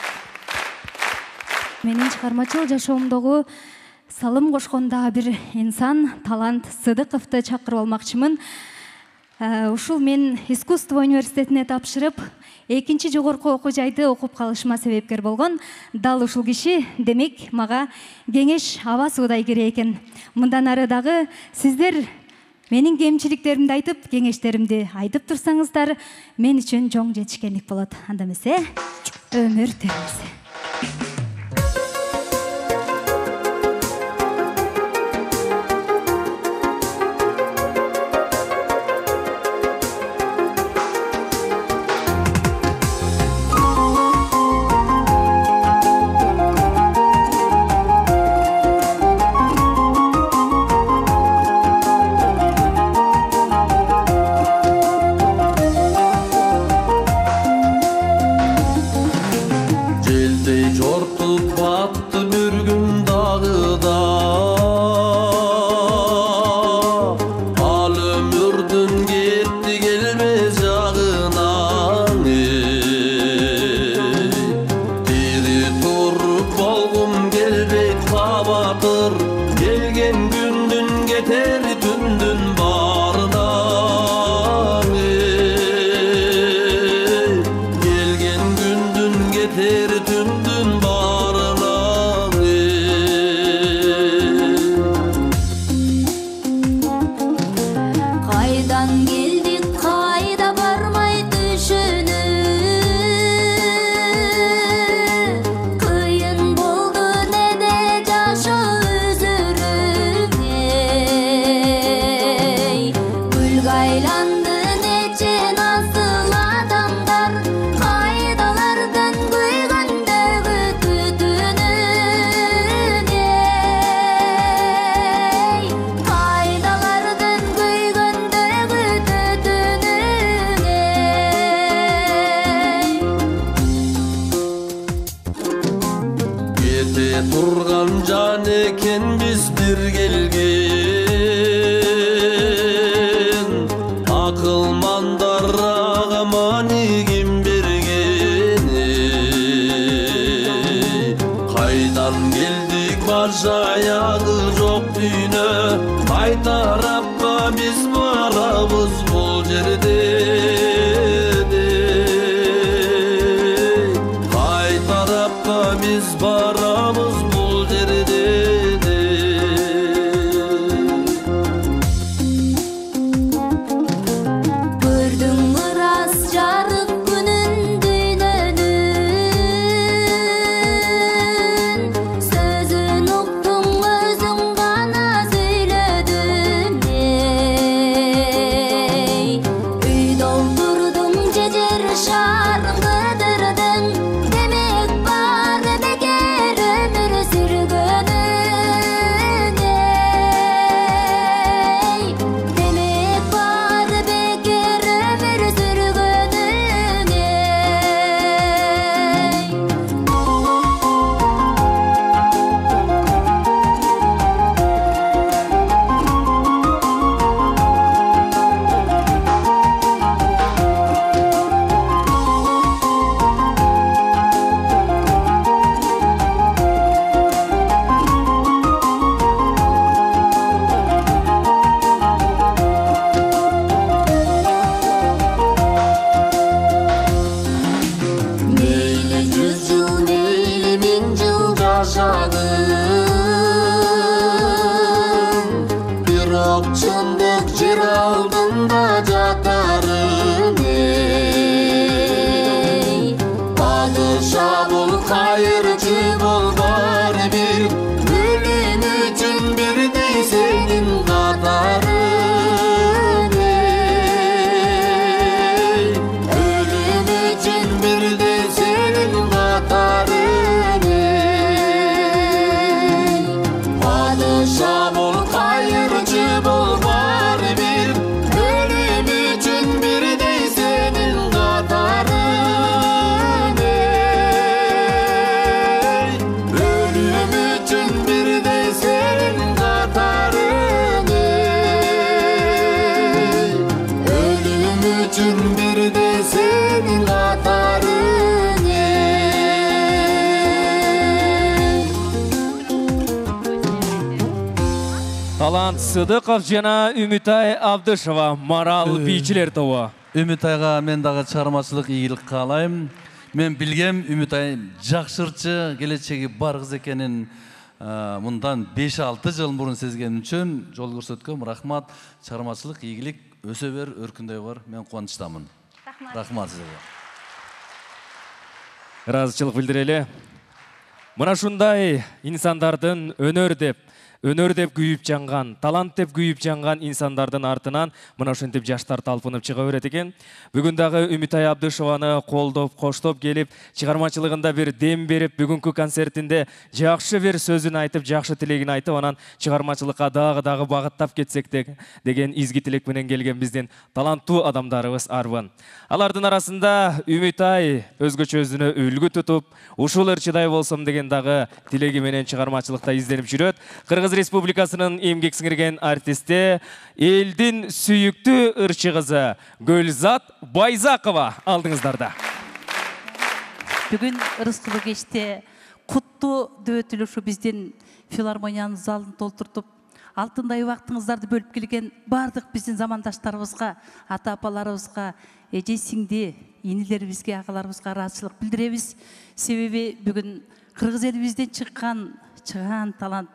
Менин чыгармачыл жашоомдогу салым кошкон дагы бир инсан Талант Сыдыковду чакырып алмакчымын. Ушул мен искусство университетине тапшырып, экинчи жогорку окуу жайды окуп калышыма себепкер болгон дал ушул киши. Демек, мага кеңеш аба суудай керек экен. Мындан ары дагы сиздер менин кемчиликтеримди айтып, кеңештеримди айтып турсаңыздар, мен үчүн чоң жетишкендик болот. Анда эмесе, өмүр тербесе. кайдан келдик кайда бармай түшүнүү кыйын болду неде жашоо өзүрүңө гүлгө айланды нече насыл адамдар кайдалардан күйгөндөгү түтүнүңө кайдалардан күйгөндөгү түтүнүңө кете турган жан экенбиз бир келген акылмандар ага мани ким бергени кайдан келдик баш аягы жок дүйнө кай тарапка биз барабыз бул жерден кай тарапка биз барабыз бул жерден көрдүң ырас жарык күнүн дүйнөнүн сөзүн уктуң өзүң гана сүйлөдүң үйдө олтурдуң жежер шаарын кыдырдың демек бар бекер өмүр сүргөнүң демек бар бекер өмүр сүргөнүң мейли 100 жыл мейли 1000 жыл жашагын бирок чындык жер алдында жатарын падыша бол кайырчы бол баары бир өлүм үчүн бирдей сенин катарың өлүм үчүн бирдей сенин катарың падыша бол кайырчы бол баары бир өлүм үчүн бирдей сенин катарың өлүм үчүн бирдей сенин катарың өлүм үчүн бирдей сенин катарың Талант Сыдыков жана Үмүтай Абдышева Марал бийчилер тобу. Үмүтайга мен дагы чыгармачылык ийгилик каалайм. Мен билгем Үмүтай жакшырчы, келечеги бар кыз экенин мындан 5-6 жыл мурун сезген үчүн жол көрсөткөм. Рахмат, чыгармачылык ийгилик, өсө бер, өркүндөй бар. Мен кубанычтамын. Рахмат сизге. Ыраазычылык билдирели. Мына ушундай инсандардын өнөр деп күйүп жанган, талант деп күйүп жанган инсандардын артынан мына ошентип жаштар талпынып чыга берет экен. Бүгүн дагы Үмүтай Абдышеваны колдоп, коштоп келип, чыгармачылыгында бир дем берип, бүгүнкү концертинде жакшы бир сөзүн айтып, жакшы тилегин айтып, анан чыгармачылыкка дагы багыттап кетсек деген изги тилек менен келген биздин таланттуу адамдарыбыз арбын. Алардын арасында Үмүтай өзгөчө өзүнө үлгү тутуп, ушул ырчыдай болсом деген дагы тилеги менен чыгармачылыкта изденип жүрөт. Кыргыз Республикасынын эмгек сиңирген артисти, элдин сүйүктүү ырчы кызы Гөлзат Байзакова алдыңыздарда. Бүгүн ырыскылуу кечте куттуу дөбөт үлүшү биздин филармониянын залын толтуртуп, алтындай убактыңыздарды бөлүп келген бардык биздин замандаштарыбызга, ата апаларыбызга, эже сиңди, инилерибизге, агаларыбызга ыраазычылык билдиребиз. Себеби бүгүн кыргыз элибизден чыккан талант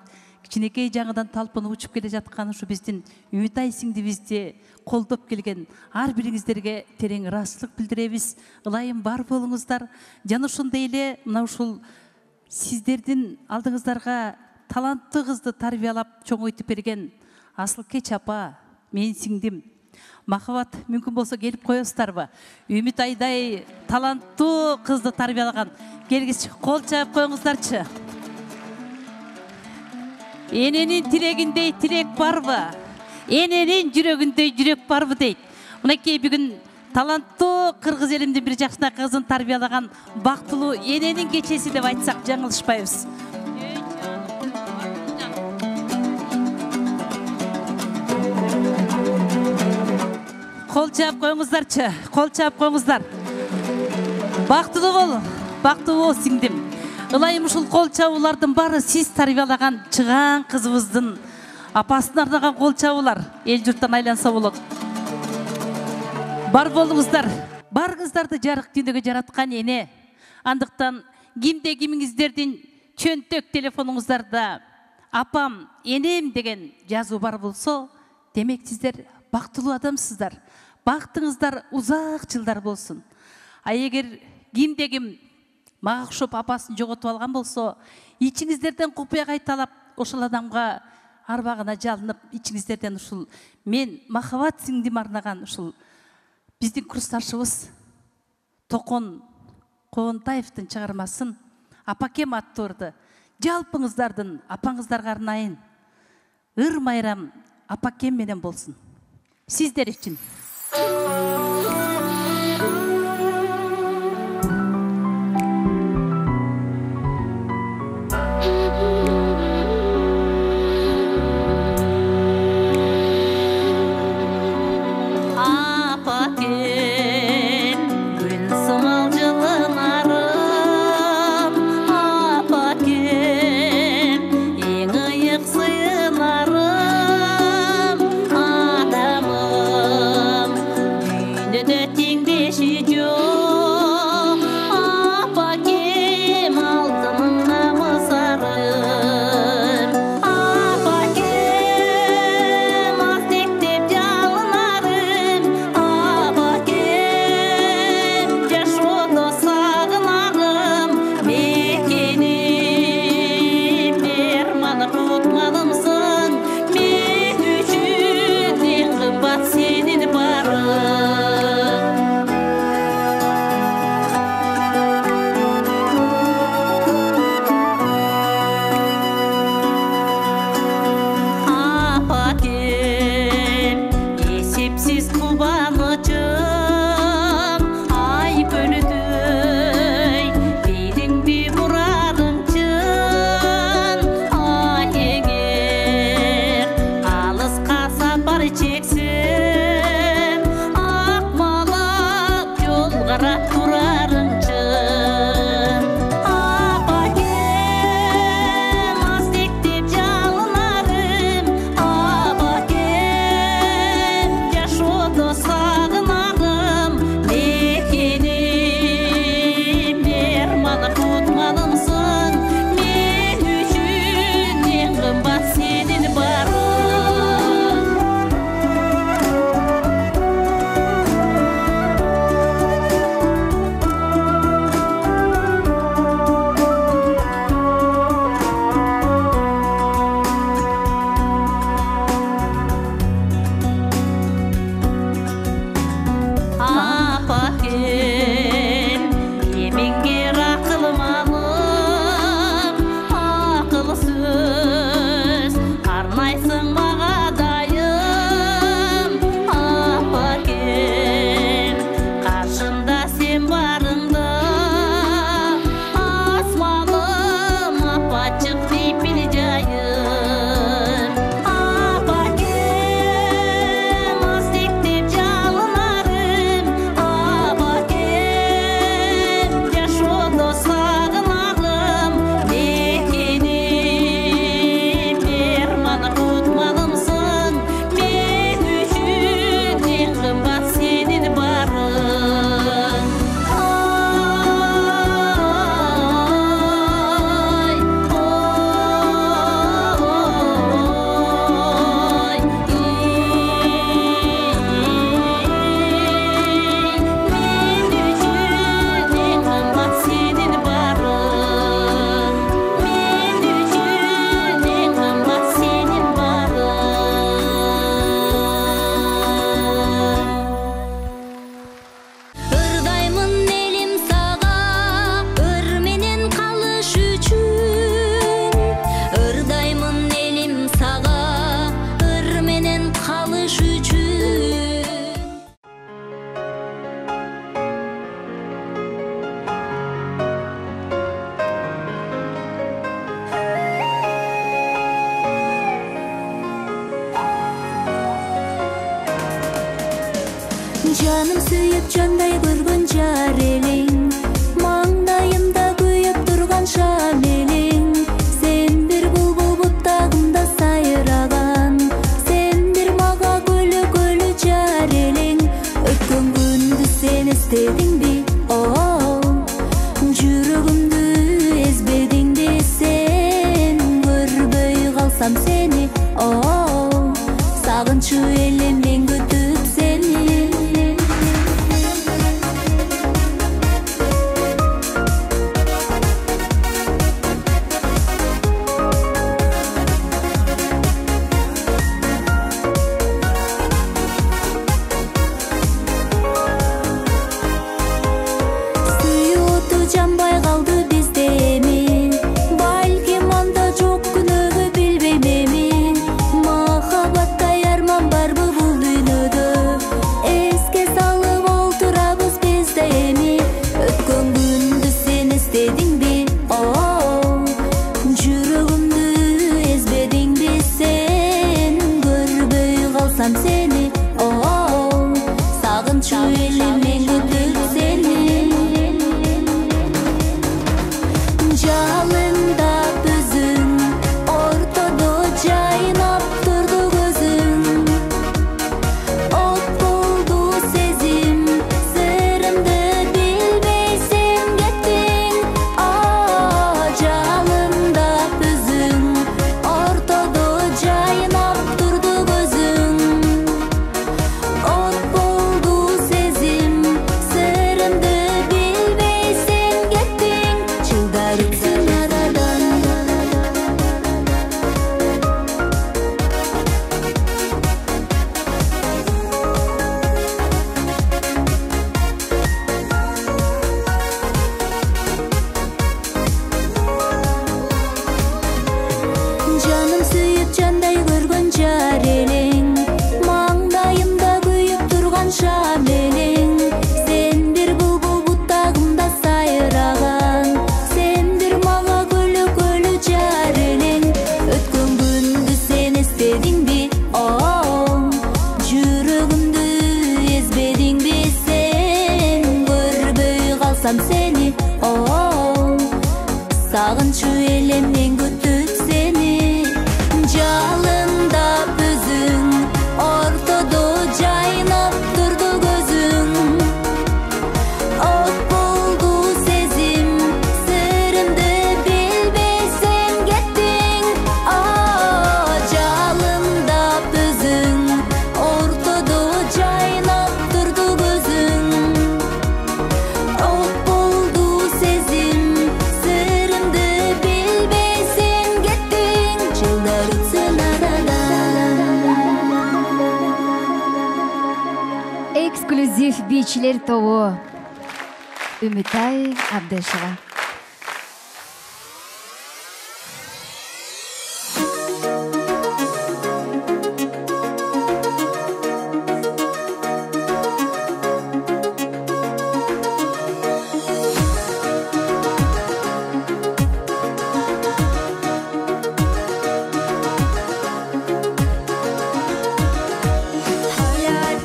кичинекей жаңыдан талпынып учуп келе жаткан ушу биздин Үмүтай сиңдибизди колдоп келген ар бириңиздерге терең ыраазычылык билдиребиз. Ылайым бар болуңуздар. Жана ошондой эле мына ушул сиздердин алдыңыздарга таланттуу кызды тарбиялап чоңойтуп берген Асылкеч апа, менин сиңдим. Махабат, мүмкүн болсо келип коесуздарбы? Үмүтайдай таланттуу кызды тарбиялаган. Келгичи кол чаап коюңуздарчы. Эненин тилегиндей тилек барбы? Эненин жүрөгүндөй жүрөк барбы дейт. Мынакей бүгүн таланттуу кыргыз элимдин бир жакшынакай кызын тарбиялаган бактылуу эненин кечеси деп айтсак жаңылышпайбыз. Кол чаап коюңуздарчы, кол чаап коюңуздар. Бактылуу бол, бактылуу бол сиңдим. Ылайым ушул кол чабуулардын баары сиз тарбиялаган чыгаан кызыбыздын апасына арнаган кол чабуулар. Эл журттан айланса болот. Бар болуңуздар. Барыңыздарды жарык дүнөгө жараткан эне. Андыктан кимде кимиңиздердин чөнтөк телефонуңуздарда апам, энем деген жазуу бар болсо, демек сиздер бактылуу адамсыздар. Бактыңыздар узак жылдар болсун. А эгер кимде ким мага окшоп апасын жоготуп алган болсо, ичиңиздерден купуя кайталап, ошол адамга арбагына жалынып, ичиңиздерден ушул мен Махабат сиңдим арнаган ушул биздин курсташыбыз Токон Коонтаевдин чыгармасын Апакем аттуурду жалпыңыздардын апаңыздарга арнайын. Ыр майрам Апакем менен болсун. Сиздер үчүн. Жаным сүйүп жандай көргөн жар элең, маңдайымда күйүп турган шам элең. Сен бир булбул буттагымда сайраган, сен бир мага көлө жар элең. Өткөн күндү сен эстедиңби? Жүрөгүмдү эзбедиңби сен? Көрбөй калсам сени, сагынчу элем мен күтүп сени. Жанбай калды бизде эми, балким анда жок күнөөгө билбейм эми. Махабаттай арман барбы бул дүйнөдө, эске салып олтурабыз бизде эми. Өткөн күндү сен эстедиңби? Жүрөгүмдү эзбедиңби сен? Көрбөй калсам сени, сагынчу элем мен күтүп сени. Жалында өзүң, ортодо жайнап турду көзүң. От болду сезим, сырымды билбей сен кеттиң. Жалында өзүң, ортодо жайнап турду көзүң. От болду сезим, сырымды билбей сен кеттиң. Жылдар өтсүн арадан, жаным сүйүп жандай көргөн жар элең, маңдайымда күйүп турган шам элең. Сен бир булбул буттагымда сайраган, сен бир мага көлө жар элең. Өткөн күндү сен эстедиңби? Жүрөгүмдү эзбедиңби сен? Көрбөй калсам сени, сагынчу элем мен күтүп сени. Жалында өзүң, ортодо жайнап турду көзүң. От болду сезим, сырымды билбей сен кеттиң. Жалында өзүң, ортодо жайнап турду көзүң. От болду сезим, сырымды билбей сен кеттиң. Жылдар өтсүн арадан. Эксклюзив бийчилер тобу Үмүтай Абдышева. Hayal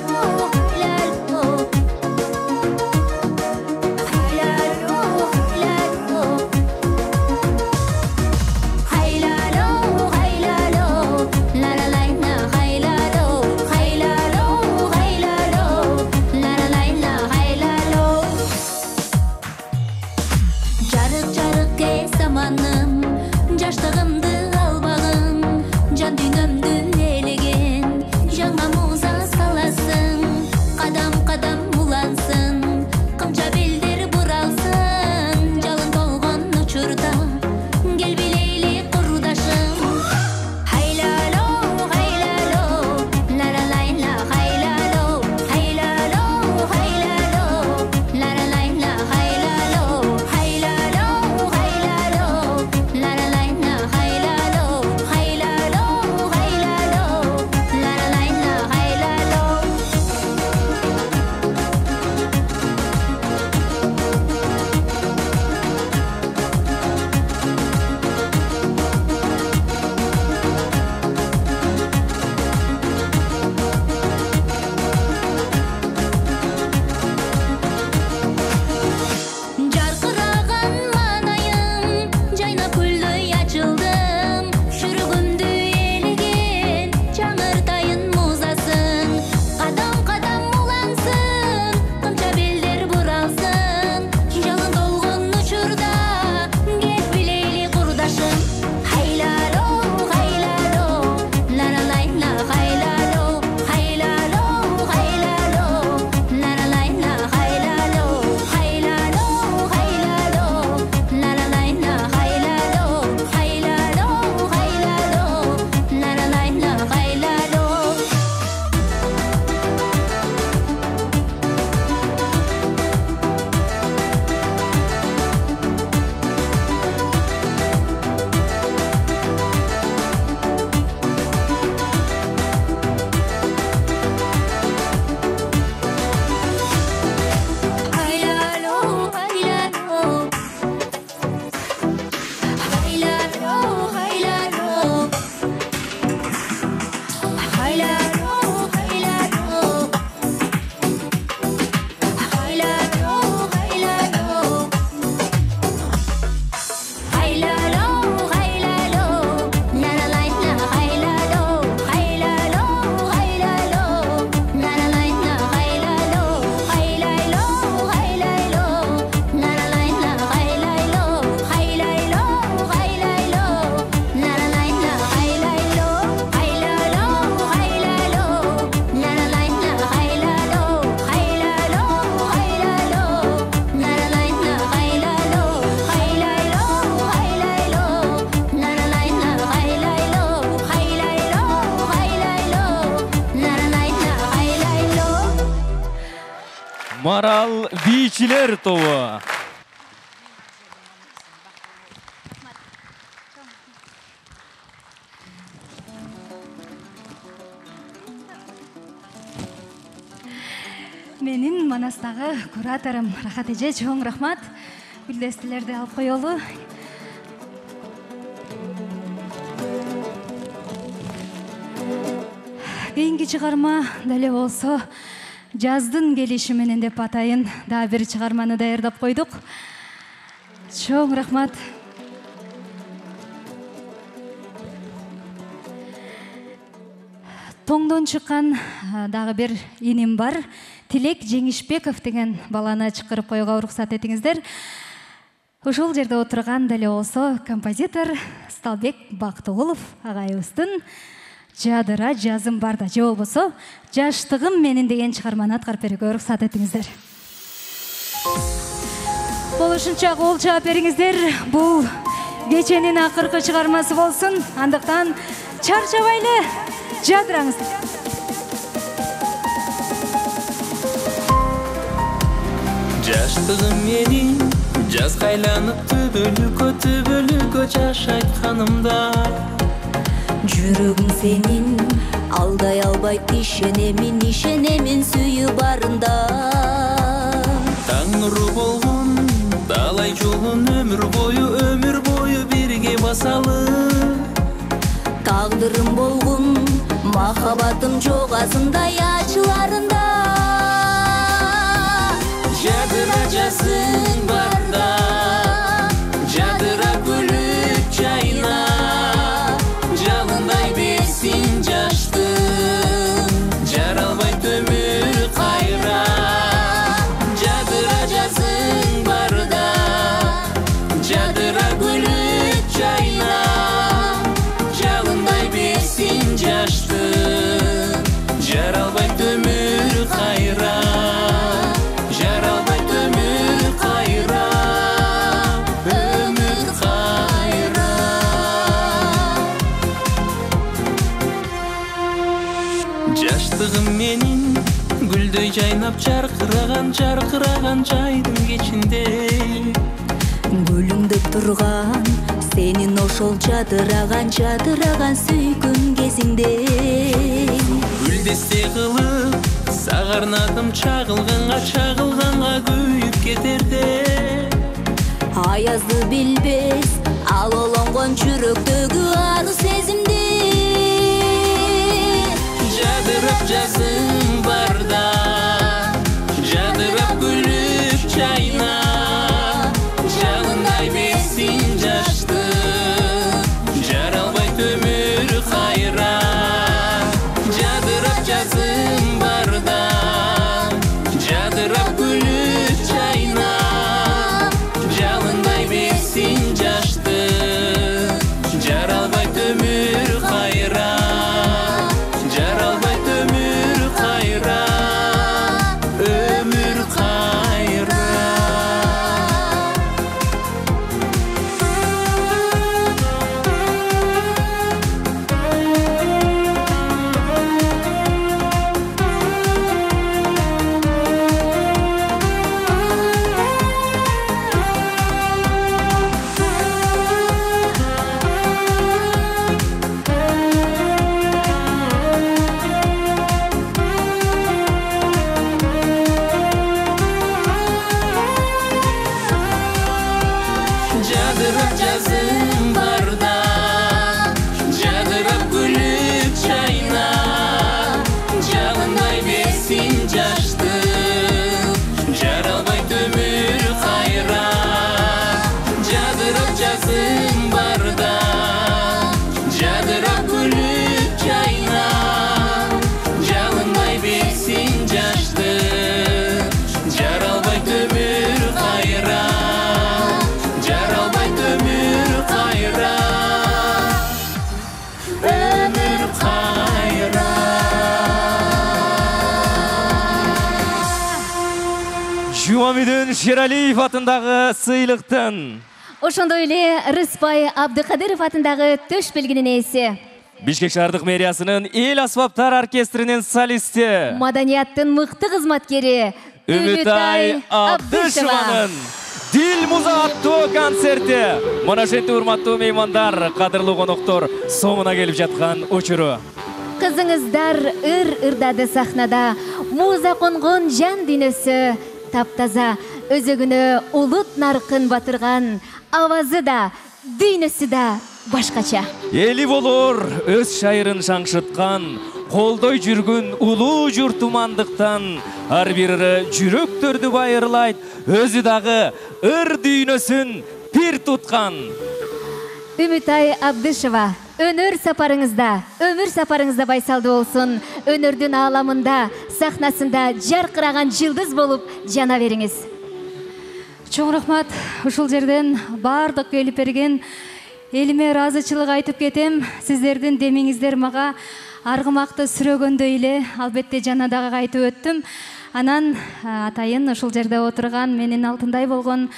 Марал бийчилер тобу. Менин Манастагы кураторум Рахат эже, чоң рахмат. Гүлдестелерди алып коелу. Кийинки чыгарма деле болсо жаздын келиши менен деп атайын. Дагы бир чыгарманы даярдап койдук. Чоң рахмат. Тоңдон чыккан дагы бир иним бар. Тилек Жеңишбеков деген баланы чакырып коюуга уруксат этиңиздер. Ушул жерде отурган деле болсо композитор Сталбек Бактыгулов агайыбыздын жадыра жазым барда же болбосо жаштыгым менин деген чыгарманы аткарып берүүгө уруксат этиңиздер. Болушунча кол чаап бериңиздер. Бул кеченин акыркы чыгармасы болсун. Андыктан чарчабайлы жадыраңыздар. Жаштыгым менин жазга айланып түбөлүккө жашайт канымда. Жүрөгүң сенин алдай албайт, ишенемин сүйүү барында. Таң нуру болгон далай жолун өмүр бою бирге басалы. Тагдырым болгон махаббатым жок азындай ачыларында. Жадыра жазың барда, жадыра күлүп жайна, жалындай берсин жаштын, жаралбайт өмүр кайра. Жадыра жазың барда, жадыра күлүп жайна, жалындай берсин жаштын, жаралбайт өмүр кайра. Жаштыгым менин гүлдөй жайнап жаркыраган жайдын кечинде. Гүлүңдөп турган сенин ошол жадыраган сүйгөн кезиңде. Гүлдесте кылып сагарнадым чагылганга күйүп кетерде. Аязды билбес ал олонгон жүрөктөгү ару сезимди. Жадырап жазың барда, жадырап күлүп жайна, жалындай берсин жаштын, жаралбайт өмүр кайра. Жадырап жазың барда, жадырап күлүп жайна, жалындай берсин жаштын, жаралбайт өмүр кайра. Жумамидин Шералиев атындагы сыйлыктын, ошондой эле Рыспай Абдыкадыров атындагы төш белгинин ээси, Бишкек шаардык мэриясынын эл аспаптар оркестринин солисти, маданияттын мыкты кызматкери Үмүтай Абдышеванын Дил муза аттуу концерти. Мына ошентип урматтуу меймандар, кадырлуу коноктор, соңуна келип жаткан учуру. Кызыңыздар ыр-ырдады сахнада, муза конгон жан дүйнөсү таптаза, өзөгүнө улут наркын батырган, авазы да, дүйнөсү да башкача. Эли болор өз шайырын шаңшыткан, колдой жүргүн улуу журтумандыктан, ар бири жүрөктөрдү байырлайт, өзү дагы ыр дүйнөсүн пир туткан. Үмүтай Абдышева, өнөр сапарыңызда байсалдуу болсун. Өнөрдүн ааламында, сахнасында жаркыраган жылдыз болуп жана бериңиз. Чоң рахмат. Ушул жерден бардык келип берген элиме ыраазычылык айтып кетем. Сиздердин демиңиздер мага аргымакты сүрөгөндөй эле, албетте жана дагы кайтып өттүм. Анан атайын ушул жерде отурган менин алтындай болгон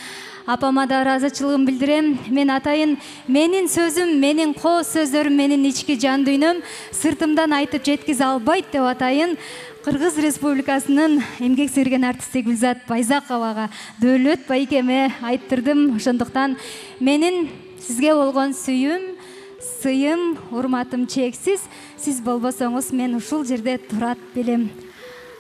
апама да ыраазычылыгымды билдирем. Мен атайын менин сөзүм, менин коо сөздөрүм, менин ички жан дүйнөм сыртымдан айтып жеткизе албайт деп атайын Кыргыз Республикасынын эмгек сіңирген артисти Гүлзат Байзаковага, Дөөлөт байкеме айттырдым. Ошондуктан менин сизге болгон сүйүм, сыйым, урматым чексиз. Сиз болбосоңуз мен ушул жерде турат белем.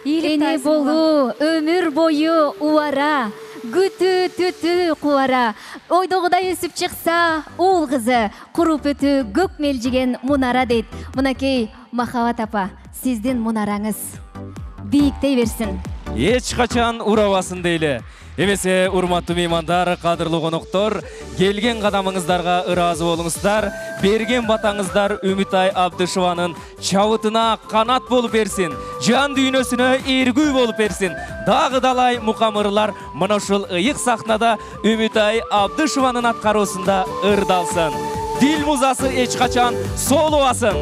Эне болуу, өмүр бою убара, күтүү түтүү кубара, ойдогудай өсүп чыкса уул кызы, куруп өтүү көк мелжиген мунара дейт. Мынакей Махабат апа, сиздин мунараңыз бийиктей берсин. Эч качан урабасын дейле. Эмесе урматтуу меймандар, кадырлуу коноктор, келген кадамыңыздарга ыраазы болуңуздар, берген батаңыздар Үмүтай Абдышеванын чабытына канат болуп берсин, жан дүйнөсүнө эргүү болуп берсин. Дагы далай мукамырлар мына ушул ыйык сахнада Үмүтай Абдышеванын аткаруусунда ырдалсын. Дил музасы эч качан солубасын.